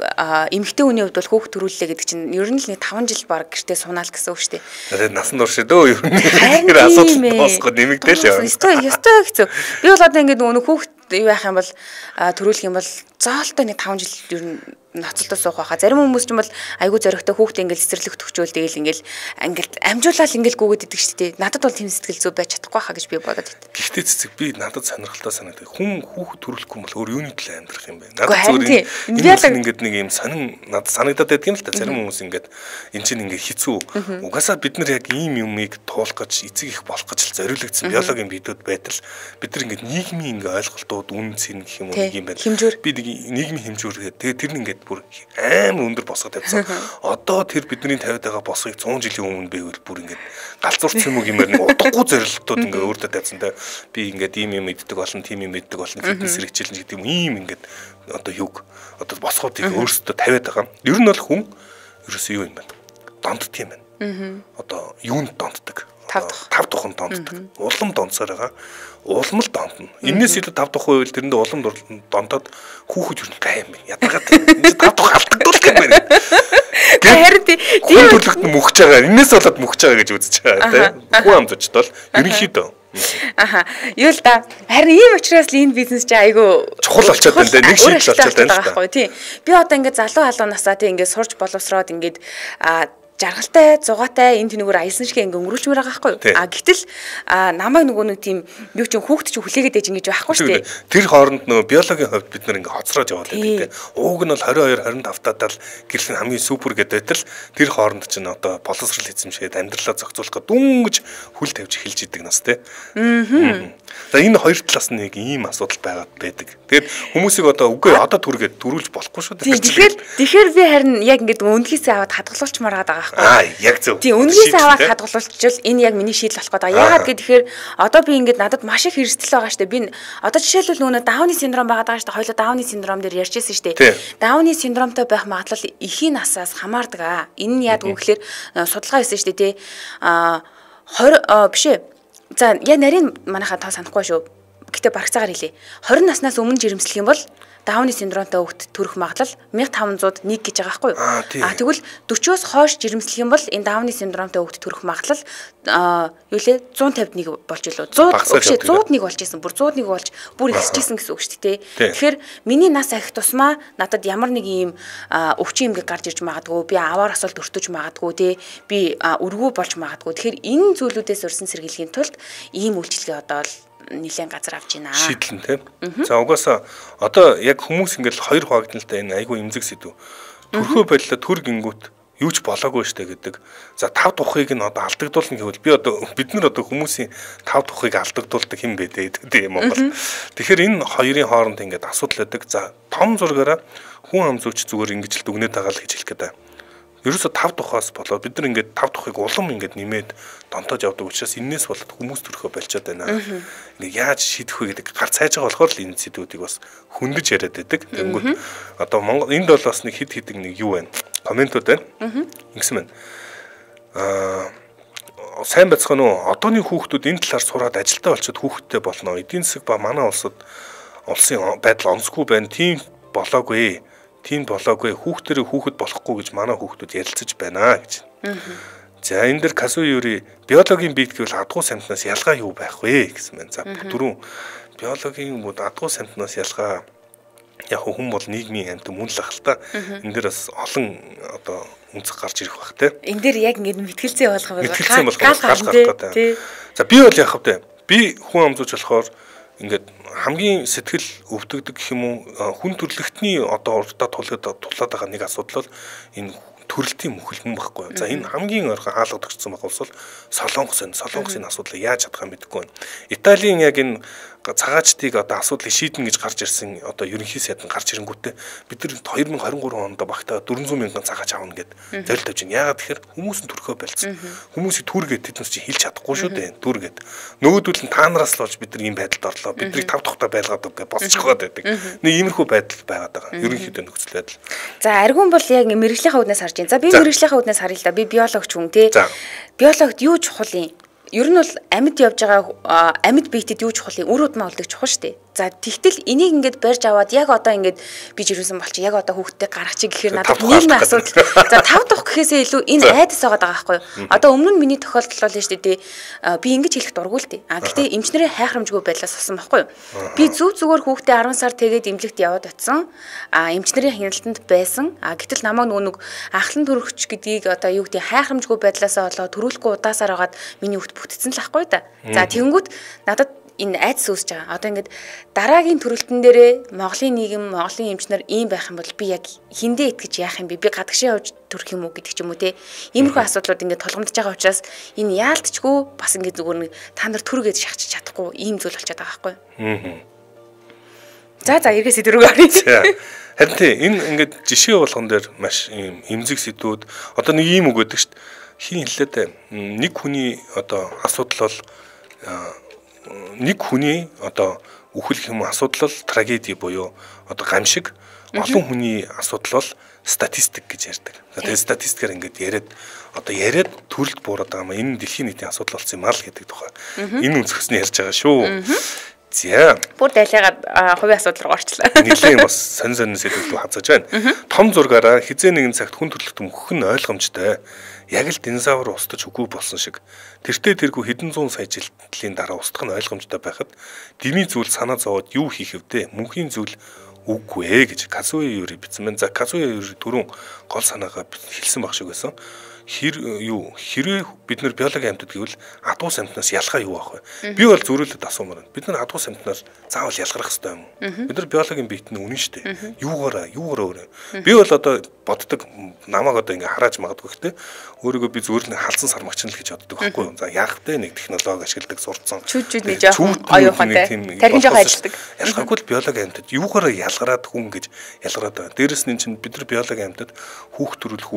A: эмэгтэй хүний хувьд бол хүүхэд төрүүллээ гэдэг чинь ер нь л нэг five жил баг гэртээ суунаал гэсэн үг шүү дээ.
B: Тэгээд насан турш дөө ер нь тэр асуудал тоосгоо нэмэгдээл яа.
A: Ёстой ёстой хэцүү. Би бол одоо ингээд нөгөө хүүхэд юу яах юм бол төрүүлэх юм бол зоолтой нэг таван жил ер нь ноцолдоо суух байхаа. Зарим хүмүүс ч юм бол айгүй зоригтой хүүхдээ ингээл цэцэрлэг төгчөөл тэгэл ингээл ингээл амжуулаад ингээл гүгээд идэг шүү дээ. Надад бол тийм сэтгэл зүй байж чадахгүй хаа гэж би бодоод байт.
B: Гэхдээ цэцэг би надад сонирхолтой санагдав. Хүн хүүхэд төрүүлэхгүй бол өөр юуны төлөө амьдрах юм бэ? Надад зүгээр энэ ингээд нэг юм сонин надад санагдаад байдаг юм л та. Зарим хүмүүс ингээд эн чинь ингээд хэцүү. Угаасаа бид нар яг ийм юмыг туулах гэж эцэг их болох гэж зориулагдсан биологийн биедүүд байтал бид нар ингээд нийгмийн ингээ ойлголтууд үн цэн гэх юм уу нэг юм байна. Би нэг нийгмийн хэмжүүр гэдэг. Тэгээ тэр нь ингээд бүр амар өндөр босгоод тавьсан. Одоо тэр бидний тавиад байгаа босгыг цуун жилийн өмнө байвал бүр ингээд галзуурсан юм гэмээр нэг утгагүй зорилтууд ингээд өөртөө тавьсан та. Би ингээд ийм юм мэддэг болно, тийм юм мэддэг болно, фитнес хэрэгжүүлнэ гэдэг юм ийм ингээд одоо юг одоо босгоодыг өөртөө тавиад байгаа. Ер нь бол хүн ерөөсөө юу юм бэ? Дондд юм байна. Одоо юунд донддаг? Тав тухын донддаг. Улам донцоор байгаа. Улам л дондно. Энээс илүү тав тухын үйл тэрэндээ улам дондоод хүүхэд юу гайм бэ? Ядаргаад энэ тав тух алдагдуулах юм байна.
A: Харин тийм
B: төлөвт мөхж байгаа. Энээс болоод мөхж байгаа гэж үзэж байгаа тийм. Хүн амзочд бол ерөнхийдөө.
A: Аха. Юу л да. Харин ийм учраас л энэ бизнес чи айгүй
B: чухал болчиход байна. Нэг шийдэл болчиход байна л
A: да. Тийм. Би одоо ингээд залуу халуун насаа тийм ингээд сурж боловсроод ингээд а жаргалтай, зугаатай энэ тэнүүгээр аялсан шиг ингээ өнгөрүүлчмээр байгаа байхгүй юу? А гэтэл намайг нөгөө нэг тийм юу ч хүүхд ч хүлээгээд ээж ингэж байхгүй шүү дээ.
B: Тэр хооронд нөгөө биологийн хувьд бид нар ингээ хоцроож яваад байдаг тийм. Ууг нь бол двадцать two twenty five татаад гэрэл хамгийн супер гэдэг байтал тэр хооронд ч н одоо боловсрал эзэмшээд амьдралаа зохицуулах гэдэг дүнгэж хүл тавьж эхэлж идэг нас тийм. Аа. За энэ хоёр талаас нь нэг ийм асуудал байгаад байдаг. Тэгээд хүмүүсийг одоо үгүй одоо түргээд төрүүлж болохгүй шүү дээ.
A: Тэгэхээр тэгэхээр би харин яг ингээ үнэлгээсээ аваад хадгалуулчмаар байгаа.
B: Аа яг зөв.
A: Тийм үнээс аваад хадгалуулчихвал энэ яг миний шийдэл болох гэдэг. Яагаад гэхээр одоо би ингээд надад маш их эрсдэл байгаа штэ. Би одоо жишээлбэл нөгөө Дауны синдром байгаа даа штэ. Хоёулаа Дауны синдром дээр ярьжсэн штэ. Дауны синдромтой байх магадлал эхийн насаас хамаардаг аа. Энэ нь яадаг вэ гэхээр судалгаа хийсэн штэ тий. Аа twenty биш ээ. За яа нарийн манайхаа тоо санахгүй шүү. Гэтэ барагцаагаар хэлье. twenty наснаас өмнө жирэмслэх юм бол Дауны синдромтой хүүхэд төрөх магадлал one thousand five hundred one гэж байгаа байхгүй юу? А тэгвэл forty-оос хойш жирэмслэх юм бол энэ Дауны синдромтой хүүхэд төрөх магадлал юу лээ one fifty-one болж илүү. one hundred one hundred one болж исэн. Бүр one hundred one болж бүр ихсчихсэн гэсэн үг шүү дээ. Тэгэхээр миний нас ахих тусмаа надад ямар нэг ийм өвчин эмгэг гарч ирж магадгүй, би аваар асуулт өртөж магадгүй тий. Би өргөө болж магадгүй. Тэгэхээр энэ зүйлүүдээс урьсан сэргийлэхийн тулд ийм үйлчилгээ одоо нэлээд газар авч байна.
B: Шийдлэн тийм. За угаасаа одоо яг хүмүүс ингээл хоёр хуваагдaltaй энэ айгүй эмзэг сэдв. Төрхөө байдлаа төр гингүүт юу ч болоогүй штэ гэдэг. За тав тухыг нь одоо алдагдуулна гэвэл би одоо бид нар одоо хүмүүсийн тав тухыг алдагдуулдаг хэм бэ дээ Монгол. Тэгэхээр энэ хоёрын хооронд ингээд асуудал байдаг. За том зургаараа хүн ам зүйч зүгээр ингэж л дүгнээд байгаа л гэж хэлэх гээд байна. Ерөөсө тав тухаас болоод бид нар ингээд тав тухыг улам ингээд нэмээд донтоож явдаг учраас энэс болоод хүмүүс төрхөө болчиход байна. Ингээд яаж шийдэх вэ гэдэг гар цайж байгаа болохоор л энэ сэдвүүдийг бас хөндөж яриад байдаг. Тэнгүүт одоо Монгол энд бол бас нэг хид хидэг нэг юу байна. Комментууд байна. Ингэсэн байна. Аа сайн бацхан уу одооны хүүхдүүд энэ талаар сураад ажилтаа болчиход хүүхдтэй болно. Эдийн засаг ба манай улсад улсын байдал онцгүй байна. Тийм болоогүй. Тийм болоогүй хүүхдэрээ хүүхэд болохгүй гэж манай хүүхдүүд ярилцаж байна гэж. За энэ дэр Касуюри биологийн бит гэвэл адгуу самтнаас ялгаа юу байх вэ гэсэн байна. За дөрөв биологийн бод адгуу самтнаас ялгаа яг хүн бол нийгмийн амьд мөн л ах л та. Энэ дэр бас олон одоо үнцэг гарч ирэх бах те.
A: Энэ дэр яг ингэ мэтгэлцээ болгох
B: бол гал гарах гэдэг. За би бол яах вэ? Би хүн амзууч болохоор ингээд хамгийн сэтгэл өвдөгдөг гэх юм уу хүн төрлөختний одоо урдаа тулаад тулаад байгаа нэг асуудал бол энэ төрөлтийн мөхөлмөн байхгүй. За энэ хамгийн ойрхон хаалгадагчсан байх бол Солонгос энэ Солонгосын асуудлыг яаж чадах юм мэдэхгүй байна. Италийн яг энэ цагаачдыг одоо асуудлыг шийднэ гэж гарч ирсэн одоо ерөнхий сайд нь гарч ирэнгүүтээ бид нар twenty twenty-three онд багтаа four hundred мянган цагаач авна гэд зорилт тавьж байна. Яагаад тэгэхээр хүмүүс нь төрхөө байлцсан. Хүмүүсийг түргээд тэднээс чи хэлж чадахгүй шүү дээ. Түргээд. Нөгөөдөл нь таанараас л болж бид нар ийм байдалд орлоо. Бидний тав тухтай байлгаад үг гэж босчих гээд байдаг. Нэг иймэрхүү байдал байгаад байгаа. Ерөнхийдөө нөхцөл байдал.
A: За аргун бол яг мэрэгжлийнхаа үднээс харж байна. За би мэрэгжлийнхаа үднээс харъя л да. Би биологч хүн тий. Биологт юу чухал юм? Ер нь бол амьд явж байгаа амьд биетэд юу чухал юм? Үр удмаа олдог чухал шүү дээ. За тэгтэл энийг ингээд барьж аваад яг одоо ингээд би жирэмсэн болчих яг одоо хүүхдтэй гарах чи гэхээр надад нийгмийн асуудал. За тав дахь гэхээсээ илүү энэ айдас байгаа даа байхгүй юу? Одоо өмнө нь миний тохиолдол бол шүү дээ би ингэж хэлэх дургүй л дээ. А гэтээ эмчнэрийн хайхрамжгүй байдлаас болсон байхгүй юу? Би зүг зүгээр хүүхдээ арван сар тэгээд эмнэлэгт яваад очсон. А эмчнэрийн хяналтанд байсан. А гэтэл намайг нөгөө нэг ахлан төрөгч гэдгийг одоо юу гэдэг хайхрамжгүй байдлаасаа болоод төрүүлэхгүй удаасаар хагаад миний хүүхд бүтцэн л ахгүй да. За тэгэнгүүт надад энэ айдас үүсэж байгаа. Одоо ингээд дараагийн төрөлтөн дээрээ Монголын нийгэм, Монголын эмчнэр ийм байх юм бол би яг хиндэ итгэж яах юм бэ? Би гадагшаа явж төрөх юм уу гэдэг ч юм уу те. Иймэрхүү асуудлууд ингээд толгомдож байгаа учраас энэ яалтчгүй бас ингээд зүгээр нэг та нар төргээд шахчих чадахгүй ийм зүйл болчиход байгаа байхгүй юу? За за эргээсээ дөрөв гарыг.
B: Харин тийм энэ ингээд жишээ болгон дээр маш ийм эмзэг сэдвүүд одоо нэг ийм үг өгдөг шүү дээ. Хин хэллээ нэг хүний одоо асуудал бол нэг хүний одоо үхэл хэм асуудал бол трагеди буюу одоо гамшиг, олон хүний асуудал бол статистик гэж ярьдаг. Тэгээд статистикээр ингээд яриад одоо яриад төрөлд буураад байгаа юм. Энэ дэлхийн нийтийн асуудал болсон юм аа л гэдэг тухай. Энэ өнцгөөс нь ярьж байгаа шүү. За.
A: Бүр дайлаагаад хувийн асуудал руу орчлаа.
B: Нэгэн бас сонь сонь сэдвүүд хазаж байна. Том зургаараа хизээ нэгэн цагт хүн төрөлхтөн мөхөх нь ойлгомжтой. Яг л динозавр устж үгүй болсон шиг. Тэртээ тэргүй хэдэн зуун сая жилийн дараа устгах нь ойлгомжтой байхад дими зүйл санаа зовоод юу хийх вдэ? Мөнхийн зүйл үгүй ээ гэж Казуя Юри бичсэн байна. За Казуя Юри түрүүн гол санаагаа хэлсэн баг шиг байсан. Хэр юу хэрвээ бид нар биологийн амьтад гэвэл адуус амьтнаас ялгаа юу байх вэ? Би бол зөрүүлээд асуумаар байна. Бид нар адуус амьтнаас заавал ялгарах хэрэгтэй юм уу? Бид нар биологийн биет нь үнэн шүү дээ. Юугаараа юугаараа өөрөө. Би бол одоо боддог намайг одоо ингээ харааж магадгүй гэхдээ өөрийгөө би зүгээр л халдсан сармагч л гэж боддог байхгүй юу? За яах вэ? Нэг технологи ашигладаг сурцсан.
A: Чүд чүд нэг жоохон оюухантай. Тархин жоохон ажилдаг.
B: Ялгаагүй л биологийн амьтад юугаараа ялгараад хүн гэж ялгараад байна. Дээрэс нь чинь бид нар биологийн амьтад хүүхд төрүүлэх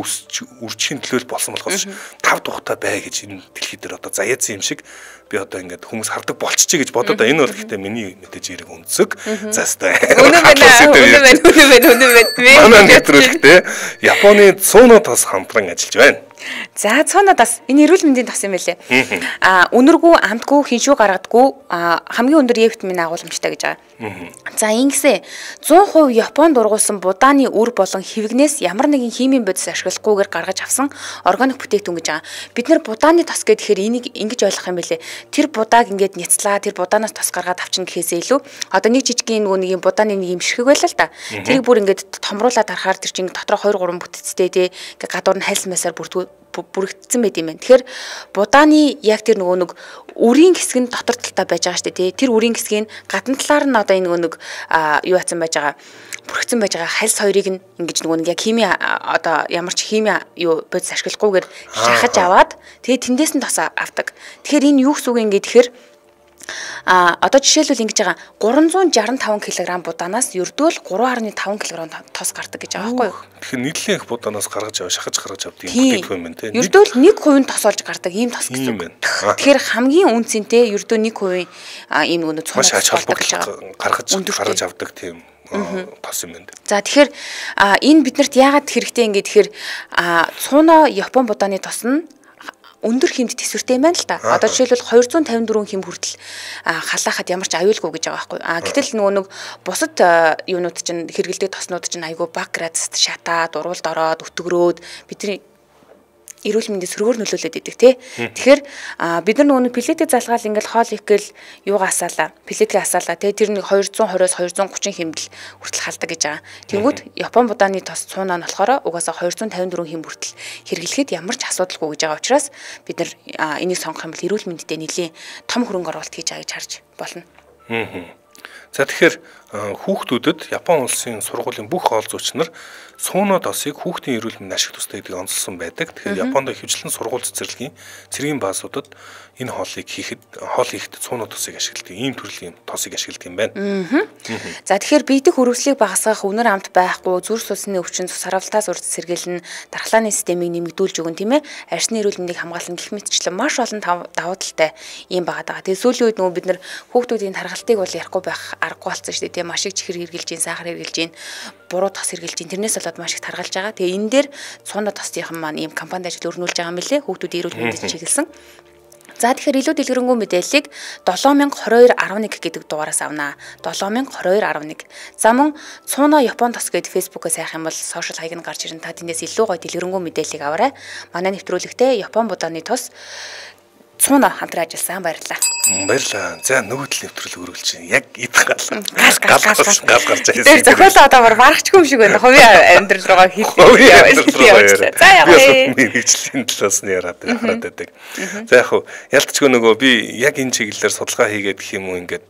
B: үржихийн төлөө болсон болохоос тав тухтай бай гэж энэ дэлхий дээр одоо заяац юм шиг би одоо ингээд хүмүүс хардаг болчихъя гэж бодоод энэ бол гэхдээ миний мэдээж яриг өнцөг. За стай.
A: Үнэн байна. Үнэн байна. Үнэн байна. Үнэн байна.
B: Манай нэвтрүүлэгтээ Японы цууно тос хамтран ажиллаж байна.
A: За цууно тос энэ эрүүл мэндийн тос юм байлээ. А үнэргүй, амтгүй, хиншүү гаргадаггүй хамгийн өндөр Е витамины агуулмжтай гэж байгаа. За ингэсээ зуун хувь Японд ургуулсан будааны үр болон хэвгнээс ямар нэгэн химийн бодис ашиглахгүйгээр гаргаж авсан органик бүтээгдэхүүн гэж байгаа. Бид нэр будааны тос гэхээр энийг ингэж ойлгох юм байлээ. Тэр будааг ингээд няцлаа, тэр будаанаас тос гаргаад авчин гэхээсээ илүү одоо нэг жижигхэн нөгөө нэг юм будааны нэг юм ширхэг байлаа л да. Тэрийг бүр ингээд томруулаад харахаар тэр чинь дотроо хоёр гурван бүтцтэй тий ингээд гадуур нь хайлс масаар бүрдгүү бүрэгдсэн байт юм байна. Тэгэхээр будааны яг тэр нөгөө нэг үрийн хэсэг нь дотор талтай байж байгаа шүү дээ тий. Тэр үрийн хэсгийн гадна талаар нь одоо энэ нөгөө нэг юу хацсан байж байгаа бүрэгдсэн байж байгаа хальс хоёрыг нь ингэж нөгөө нэг яг хими одоо ямар ч хими юу бодис ашиглахгүйгээр шахаж аваад тэгээ тэндээс нь тос авдаг. Тэгэхээр энэ юу гэсэн үг юм гэхээр А одоо жишээлбэл ингэж байгаа гурван зуун шаран таван килограмм будаанаас ердөөл гурван гаруй таван килограмм тос гардаг гэж байгаа байхгүй юу?
B: Тэгэхээр нийтлэн их будаанаас гаргаж аваа шахаж гаргаж авдаг юм гэдэг юм байна тийм.
A: Ердөөл нэг хувийн тос олж гардаг ийм тос гэсэн юм байна. Тэгэхээр хамгийн үнцэнтэй ердөө нэг хувийн ийм нөгөө цуунаас
B: гаргаж гаргаж авдаг тийм тос юм байна.
A: За тэгэхээр энэ биднэрт яагаад хэрэгтэй юм гэхээр цууно Япон будааны тос нь өндөр хэмд төсвөртэй юм байна л да. Одоо жишээлбэл хоёр зуун тавин дөрвөн хэм хүртэл халаахад ямар ч аюулгүй гэж байгаа байхгүй. А гэтэл нөгөө нэг бусад юунууд чинь хэрэгэлдэг тоснууд чинь айгүй баг градуст шатаад, урвалд ороод, өтгөрөөд бидний эрүүл мэндийн сөргөөр нөлөөлөд идэг тий. Тэгэхээр бид нар нөгөө пилетик залгаал ингээл хоол их гэл юугаа асаалаа. Пилетик асаалаа тий. Тэр нэг хоёр зуун двадцоос хоёр зуун гучин хэмдэл хүртэл халдаг гэж байгаа. Тэнгүүд Япон будааны тос цуунаа нь болохоор угаасаа хоёр зуун тавин дөрвөн хэм хүртэл хэрэглэхэд ямар ч асуудалгүй гэж байгаа учраас бид нар энийг сонгох юм бол эрүүл мэндэд нэлийн том хөрөнгө оруулалт хийж байгаа гэж харж болно.
B: За тэгэхээр хүүхдүүдэд Япон улсын сургуулийн бүх хоол зүйчнэр цууно тосыг хүүхдийн эрүүл мэндийн ашиг тустай гэдгийг онцлсон байдаг. Тэгэхээр Японд ихэвчлэн сургууль цэцэрлэгийн цэргийн баазуудад энэ хоолыг хийхэд хоол хийхэд цууно тосыг ашигладаг. Ийм төрлийн тосыг ашигладаг юм байна.
A: За тэгэхээр биедэх хөрвслийг багасгах, үнэр амт байхгүй, зүрх судасны өвчин, сарвалтаас урд сэргийлэн, дархлааны системийг нэмэгдүүлж өгөн тийм ээ. Арьсны эрүүл мэндийг хамгаалсан гэх мэтчлэн маш олон давуу талтай юм байгаа. Тэгээ сүүлийн үед нөгөө бид нар хүүхдүүдийн тархалтыг бол ярихгүй байх аргагүй болсон шүү дээ. Тэгээ маш их чихэр хэрглэж гин, сахар хэрглэж гин, буруу тос хэрглэж гин. Тэрнээс болоод маш их таргалж байгаа. Тэгээ энэ дээр цууно тосынхан маань ийм компанид ажил өрнүүлж байгаа юм билэ. Хүүхдүүдийн эрүүл мэндэд чиглэсэн. За тэгэхээр илүү дэлгэрэнгүй мэдээллийг долоо мянга хорин хоёр арван нэг гэдэг дугаараас авнаа. долоо мянга хорин хоёр арван нэг. За мөн Цууна Япон тос гэдэг фэйсбүүкээс хайх юм бол сошиал хаяг нь гарч ирэн та тэндээс илүү гоё дэлгэрэнгүй мэдээллийг аваарай. Манай нэвтрүүлэгтээ Япон будааны тос Цууна хамтран ажилласан. Баярлалаа.
B: Баярлалаа. За нөгөө төл нэвтрүүлэг өргөлж яг идэх гал.
A: Гал гал гал
B: гал гарч
A: ирсэн. Тэр зохиолоо одоо бар барахчгүй юм шиг байна. Хувийн амьдрал руугаа хийх. За яг
B: ээ. Мэргэжлийн талаас нь яраад хараад байдаг. За яг ялцчгүй нөгөө би яг энэ чиглэлээр судалгаа хийгээд гэх юм уу ингээд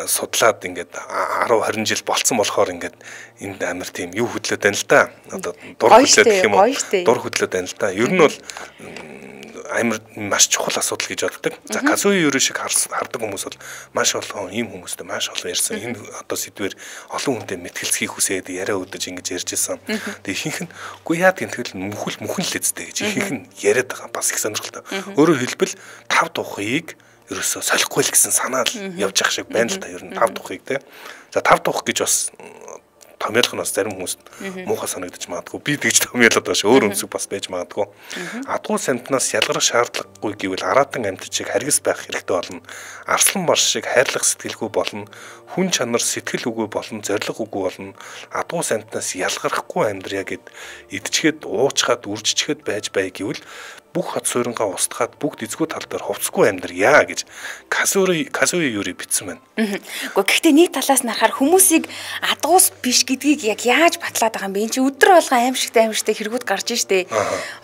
B: судлаад ингээд арав харин жил болцсон болохоор ингээд энд амар тийм юу хөдлөөд байна л да. Одоо дур хөдлөөд гэх юм уу? Дур хөдлөөд байна л да. Ер нь бол амар маш чухал асуудал гэж боддог. За Казуи Юри шиг хардаг хүмүүс бол маш олон ийм хүмүүстэй маш олон ярьсан. Энэ одоо сэдвэр олон хүнтэй мэтгэлцхийг хүсээд яриа өдөж ингэж ярьж исэн. Тэгээ ихэнх нь үгүй яа гэнтгэл мөхөл мөхөн л эзтэй гэж ихэнх нь яриад байгаа бас их сонирхолтой. Өөрөөр хэлбэл тав тухыг ерөөсөө солихгүй л гэсэн санаа л явж явах шиг байна л та ер нь тав тухыг те. За тав тух гэж бас томьёолох нь бас зарим хүмүүст муухай санагдаж магадгүй. Би тэгж томьёолоод бааш өөр өмсөг бас байж магадгүй. Адгуу самтнаас ялгарах шаардлагагүй гэвэл аратан амьтад шиг харгас байх хэрэгтэй болно. Арслан бар шиг хайрлах сэтгэлгүй болно. Хүн чанар сэтгэл үгүй болно, зориг үгүй болно. Адгуу самтнаас ялгарахгүй амьдрья гэд идчихэд уучхад үржичхэд байж бай гэвэл бүх хот суурингаа устгаад бүгд эзгүй тал дээр хувцсгүй амьдрья гэж Казуи Казуи Юри бичсэн байна.
A: Гэхдээ гэхдээ нэг талаас нь харахаар хүмүүсийг адгуус биш гэдгийг яг яаж батлаад байгаа юм бэ? Энд чи өдөр болгон аимшигтай аимшигтай хэрэгүүд гарч штэ.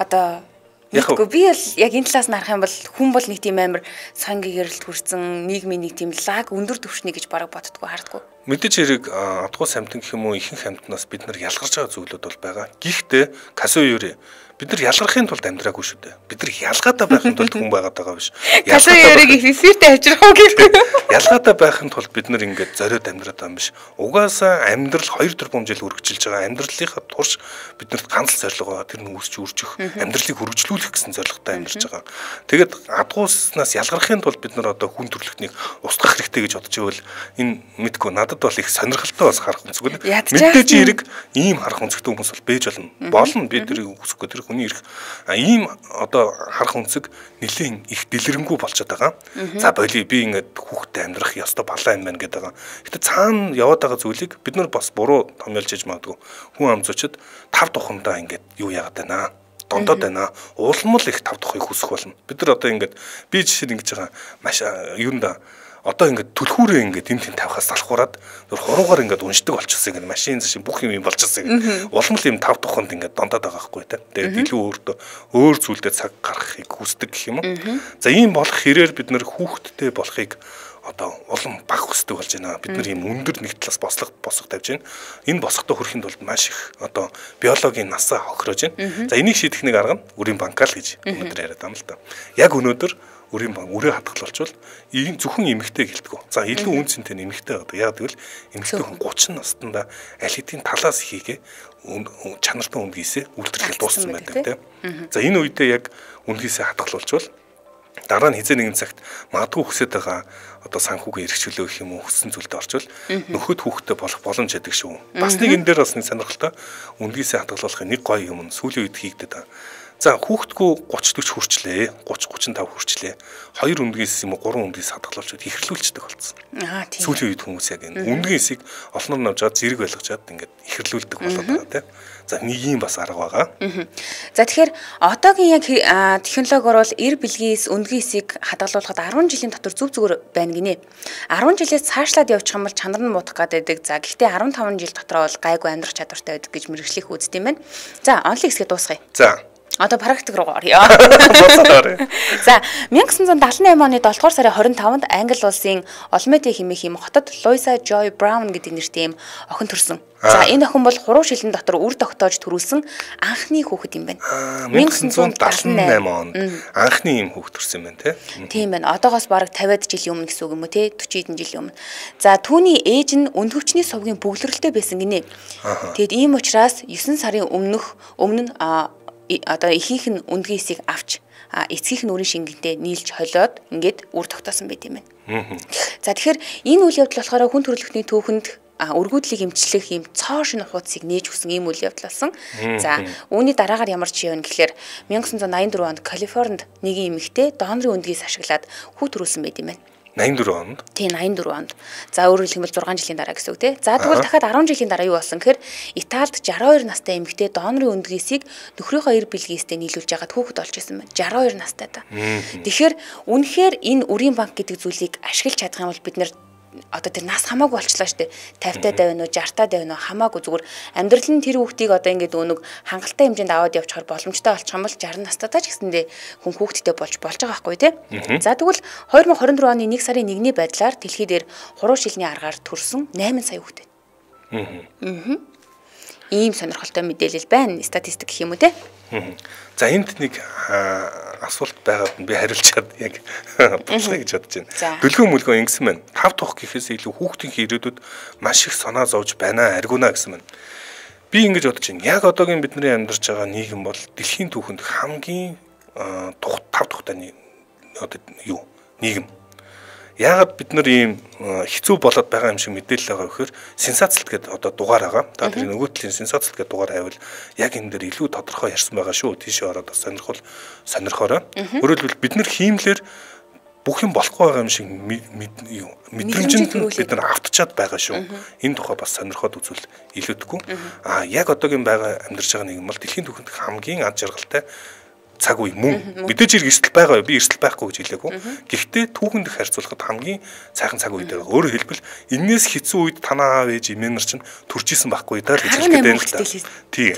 A: Одоо Тэгэхгүй би л яг энэ талаас нь харах юм бол хүн бол нэг тийм амар сонгийн гэрэлт хүрсэн нийгмийн нэг тийм лаг өндөр түвшний гэж бараг боддгоо хардггүй.
B: Мэдээж хэрэг адгуу самтан гэх юм уу ихэнх амтнаас бид нар ялгарч байгаа зүйлүүд бол байгаа. Гэхдээ Казуи Юри бид нар ялгархын тулд амьдраагүй шүү дээ. Бид нар ялгаатай байхын тулд хүн байгаад байгаа биш.
A: Казуи Юриг эфиртэй авчрах уу гэхгүй.
B: Ялгаатай байхын тулд бид нар ингээд зориод амьдраад байгаа юм биш. Угаасаа амьдрал хоёр тэрбум жил үргэлжилж байгаа. Амьдралынхаа турш биднэрт ганц зорилго байгаа. Тэр нь үүсч үржих, амьдралыг хөгжлүүлэх гэсэн зорилготой амьдарч байгаа. Тэгээд адгууснаас ялгархын тулд бид нар одоо хүн төрөлхтнийг устгах хэрэгтэй гэж бодож байвал энэ мэдгүй надад бол их сонирхолтой бас харах үнцгүй. Мэдээж хэрэг ийм харах үнцгтэй хүмүүс бол бэж болно. Болно би тэрийг үсэхгүй тэр хүний ирэх ийм одоо харах үнцэг нэлээд их дэлгэрэнгүй болчиход байгаа. За боли би ингээд хүүхдэд амьдрах ёстой балаа юм байна гэдэг байгаа. Гэтэ цаана яваад байгаа зүйлийг бид нар бас буруу томьёолж иж магадгүй. Хүн ам зочид тав тухандаа ингээд юу яагаад байна? Дондоод байна. Улам л их тав тухыг хүсэх болно. Бид нар одоо ингээд би жишээ нь ингэж байгаа маш юунда одоо ингээд түлхүүрээ ингээд эм тэм тавихаас залхуураад зөв хуруугаар ингээд уншдаг болчихсон ингээд машин зашин бүх юм юм болчихсон. Улам л юм тав туханд ингээд дондоод байгаа хгүй та. Тэгээд илүү өөртөө өөр зүйлдээ цаг гаргахыг хүсдэг гэх юм уу. За ийм болох хэрээр бид нэр хүүхэдтэй болохыг одоо улам баг хүсдэг болж байна. Бид нар ийм өндөр нэг талаас бослог босго тавьж байна. Энэ босготой хүрэхэд бол маш их одоо биологийн насаа хохирож байна. За энийг шийдэх нэг арга нь үрийн банкал гэж өнөөдөр яриад байгаа юм л та. Яг өнөөдөр үрийн банк үрээ хадгалуулчвал ийм зөвхөн эмэгтэй гэлтгүү. За илүү үн цэнтэй эмэгтэй одоо яг гэвэл эмэгтэй хүн гучин настанда аль хэдийн талаас хийгээ чанартай үндгийсээ үйлдвэрлэл дууссан байдаг тийм. За энэ үедээ яг үндгийсээ хадгалуулчвал дараа нь хизээ нэгэн цагт магадгүй хүсэж байгаа одоо санхүүгийн эрхчлөө гэх юм уу хүссэн зүйлд орчвол нөхөд хүүхдтэй болох боломж яддаг шүү. Бас нэг энэ дээр бас нэг сонирхолтой үндгийсээ хадгалуулахын нэг гоё юм нь сүүлийн үед хийгдэт байгаа. За хүүхдгүү гуч дөрвөн хүрчлээ. гуч гучин тав хүрчлээ. Хоёр үндгээс юм уу гурван үндгээс хадгалуулчуд ихрлүүлчихдэг болсон.
A: Аа тийм.
B: Сүүлийн үед хүмүүс яг энэ үндгээсийг олноор навж аваад зэрэг байлгачаад ингээд ихрлүүлдэг болоод байгаа тийм. За нэг юм бас арга байгаа.
A: За тэгэхээр одоогийн яг технологиор бол эр бэлгээс үндгээсийг хадгалуулахад арван жилийн дотор зүг зүгээр байна гинэ. арван жилээс цаашлаад явчих юм бол чанар нь муудах гэдэг. За гэхдээ арван таван жил дотор бол гайгүй амьдрах чадвартай байдаг гэж мэргэжлэх үздэм байна. За онлын хэсгээ дуусгая.
B: За
A: одоо практик руу орё. За мянга девятьсот седьмидесяти восьмын оны долдугаар сарын хорин таванд Англи улсын Олмете хэмээх юм хотод Луиза Жой Браун гэдэг нэртэй юм охин төрсөн. За энэ охин бол хуруу шилэн дотор үр тогтоож төрүүлсэн анхны хүүхэд юм байна.
B: мянга девятьсот седьмидесяти восьмын онд анхны юм хүүхэд төрсөн байна тий.
A: Тийм байна. Одоогоос бараг тавиад жилийн өмнө гэсэн үг юм уу тий? forty хэдэн жилийн өмнө. За түүний ээж нь өндгөвчний совгийн бөглөрөлтэй байсан гинэ. Тэгэд ийм учраас нine сарын өмнөх өмнө нь одоо ихийнх нь үндгээсийг авч эцгийнх нь үрийн шингэнтэй нийлж холиод ингээд үр тогтоосон байт юм байна. За тэгэхээр энэ үйл явдал болохоор хүн төрөлхтний түүхэнд өргөдлийг эмчлэх ийм цоо шинэ хуудсыг нээж өгсөн ийм үйл явдал болсон. За үүний дараагаар ямар ч юм гэхээр 천구 восемьдесят дөрвөн онд Калифорнид нэгэн эмэгтэй донорын өндгийс ашиглаад хүүхд төрүүлсэн байт юм байна.
B: найман дөрвөн онд.
A: Тийм найман дөрвөн онд. За өөрөөр хэлбэл зургаан жилийн дараа гэсэн үг тий. За тэгвэл дахиад арван жилийн дараа юу болсон гэхээр Италид шестьдесят two настай эмэгтэй донорын өндгийсийг нөхрийнхөө эр билгээстэй нийлүүлж ягаад хүүхэд олж исэн байна. шестьдесят two настай та. Тэгэхээр үнэхээр энэ үрийн банк гэдэг зүйлийг ашиглаж чадах юм бол бид нэр одоо тэр нас хамаагүй болчлаа штэ пятьдесят тавина уу шестьдесят тавина уу хамаагүй зүгээр амьдрал нь тэр хүүхдийг одоо ингээд өнөг хангалттай хэмжээнд аваад явчихаар боломжтой болчих юм бол шестьдесят настайдаа ч гэсэндээ хүн хүүхдтэй болж болж байгаа байхгүй тий. За тэгвэл two thousand twenty-four оны нэг сарын нэгний байдлаар дэлхий дээр хуруу шилний аргаар төрсөн найман сая хүүхэд. Аа. Ийм сонирхолтой мэдээлэл байна. Статистик гэх юм уу те.
B: За энд нэг асуулт байгаад би хариулчаад яг буцлаа гэж бодож байна. Дүлгөө мүлгөө ингэсэн байна. Тав тухх гэхээс илүү хүүхдийн ирээдүйд маш их санаа зовж байна, аргуна гэсэн байна. Би ингэж бодож байна. Яг одоогийн бидний амьдарч байгаа нийгэм бол дэлхийн түүхэнд хамгийн тав тухтай одоо юу нийгэм. Яагаад бид нар ийм хэцүү болоод байгаа юм шиг мэдээлэл байгаа вэхээр сенсацлт гэдэг одоо дугаар байгаа. Та тэр нөгөө талын сенсацлт гэдэг дугаар хайвал яг энэ дээр илүү тодорхой ярьсан байгаа шүү. Тийшээ ороод бас сонирхол сонирхоорой. Өөрөөр хэлбэл бид нар хиймлэр бүх юм болохгүй байгаа юм шиг мэдрэмжэнд бид нар автчаад байгаа шүү. Энэ тухай бас сонирхоод үзвэл илүүдэхгүй. Аа яг одоогийн байгаа амьдарч байгаа нийгэм бол дэлхийн түүхэнд хамгийн ад жаргалтай цаг үе мөн мэдээж хэрэг эрсдэл байгаа би эрсдэл байхгүй гэж хэлээгүй. Гэхдээ түүхэнд харьцуулахад хамгийн сайхан цаг үед байгаа. Өөрөөр хэлбэл энээс хэцүү үед танаа аав ээж эмээнэр чинь төрж исэн байхгүй даа гэж хэлэх гэдэг юм л та. Тийм.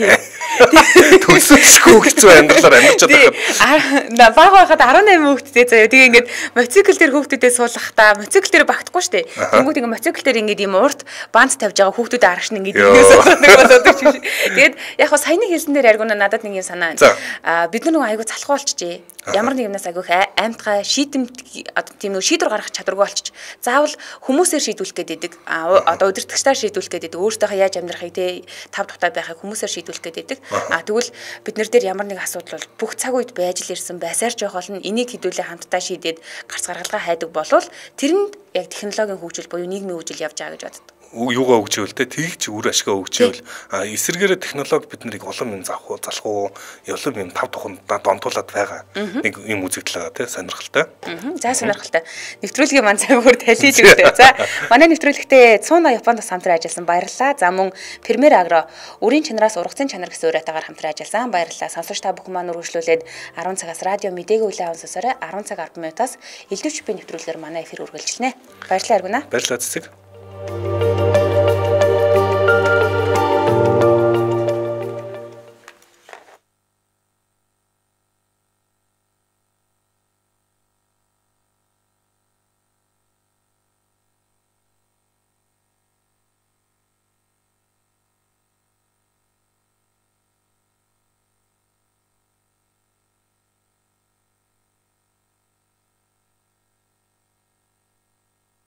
B: Төсөөлшгүй хэцүү амьдралаар амьдарч байгаа.
A: Баг байхад eighteen хүүхэдтэй заяа. Тэгээ ингээд моцикл дээр хүүхдүүдэд суулгахтаа моцикл дээр багтахгүй шүү дээ. Тэнгүүд ингээд моцикл дээр ингээд юм урт бант тавьж байгаа хүүхдүүдэд арагш нь ингээд ингээс болоод шүү. Тэгээд яг хаа саяны хэлсэн дээр аргуна надад нэг юм санаа байна. Аа бид нар айгу залхуу болчихжээ. Ямар нэг юмнаас айгу аймтгай шийдэмт одоо тийм нэг шийдвэр гаргах чадваргүй болчих. Заавал хүмүүсээр шийдвүүлэх гэдэг. А одоо удирдлагчдаар шийдвүүлэх гэдэг. Өөртөөхөө яаж амьдрахыг те тав тухтай байхыг хүмүүсээр шийдвүүлэх гэдэг. А тэгвэл бид нар дээр ямар нэг асуудал бол бүх цаг үед байж л ирсэн байсаар ч явах болно. Энийг хэдүүлээ хамтдаа шийдээд гарц гаргалгаа хайдаг болвол тэрэнд яг технологийн хөгжил буюу нийгмийн хөгжил явж байгаа гэж боддог.
B: Юугаа өгчөөл те тэгж үр ашгаа өгчөөл а эсэргээрээ технологи бид нарыг улам юм завх залах уу улам юм тав туханд донтуулаад байгаа нэг юм үзэгдэл байгаа те сонирхолтой.
A: За сонирхолтой. Нэвтрүүлгийн маань цаг бүр талиж өгдөө. За манай нэвтрүүлэгтээ Цууна Японоос хамтран ажилласан баярлалаа. За мөн Премьер Агро үрийн чанараас ургацын чанар гэсэн уриатаагаар хамтран ажилласан баярлалаа. Сонсогч та бүхэн маань үргэлжлүүлээд ten цагаас радио мэдээгээ үлээн сонсоорой. ten цаг ten минутаас элдв чипийн нэвтрүүлгээр манай эфир үргэлжилнэ. Баярлалаа Аргуна.
B: Баярлалаа Цэцэг.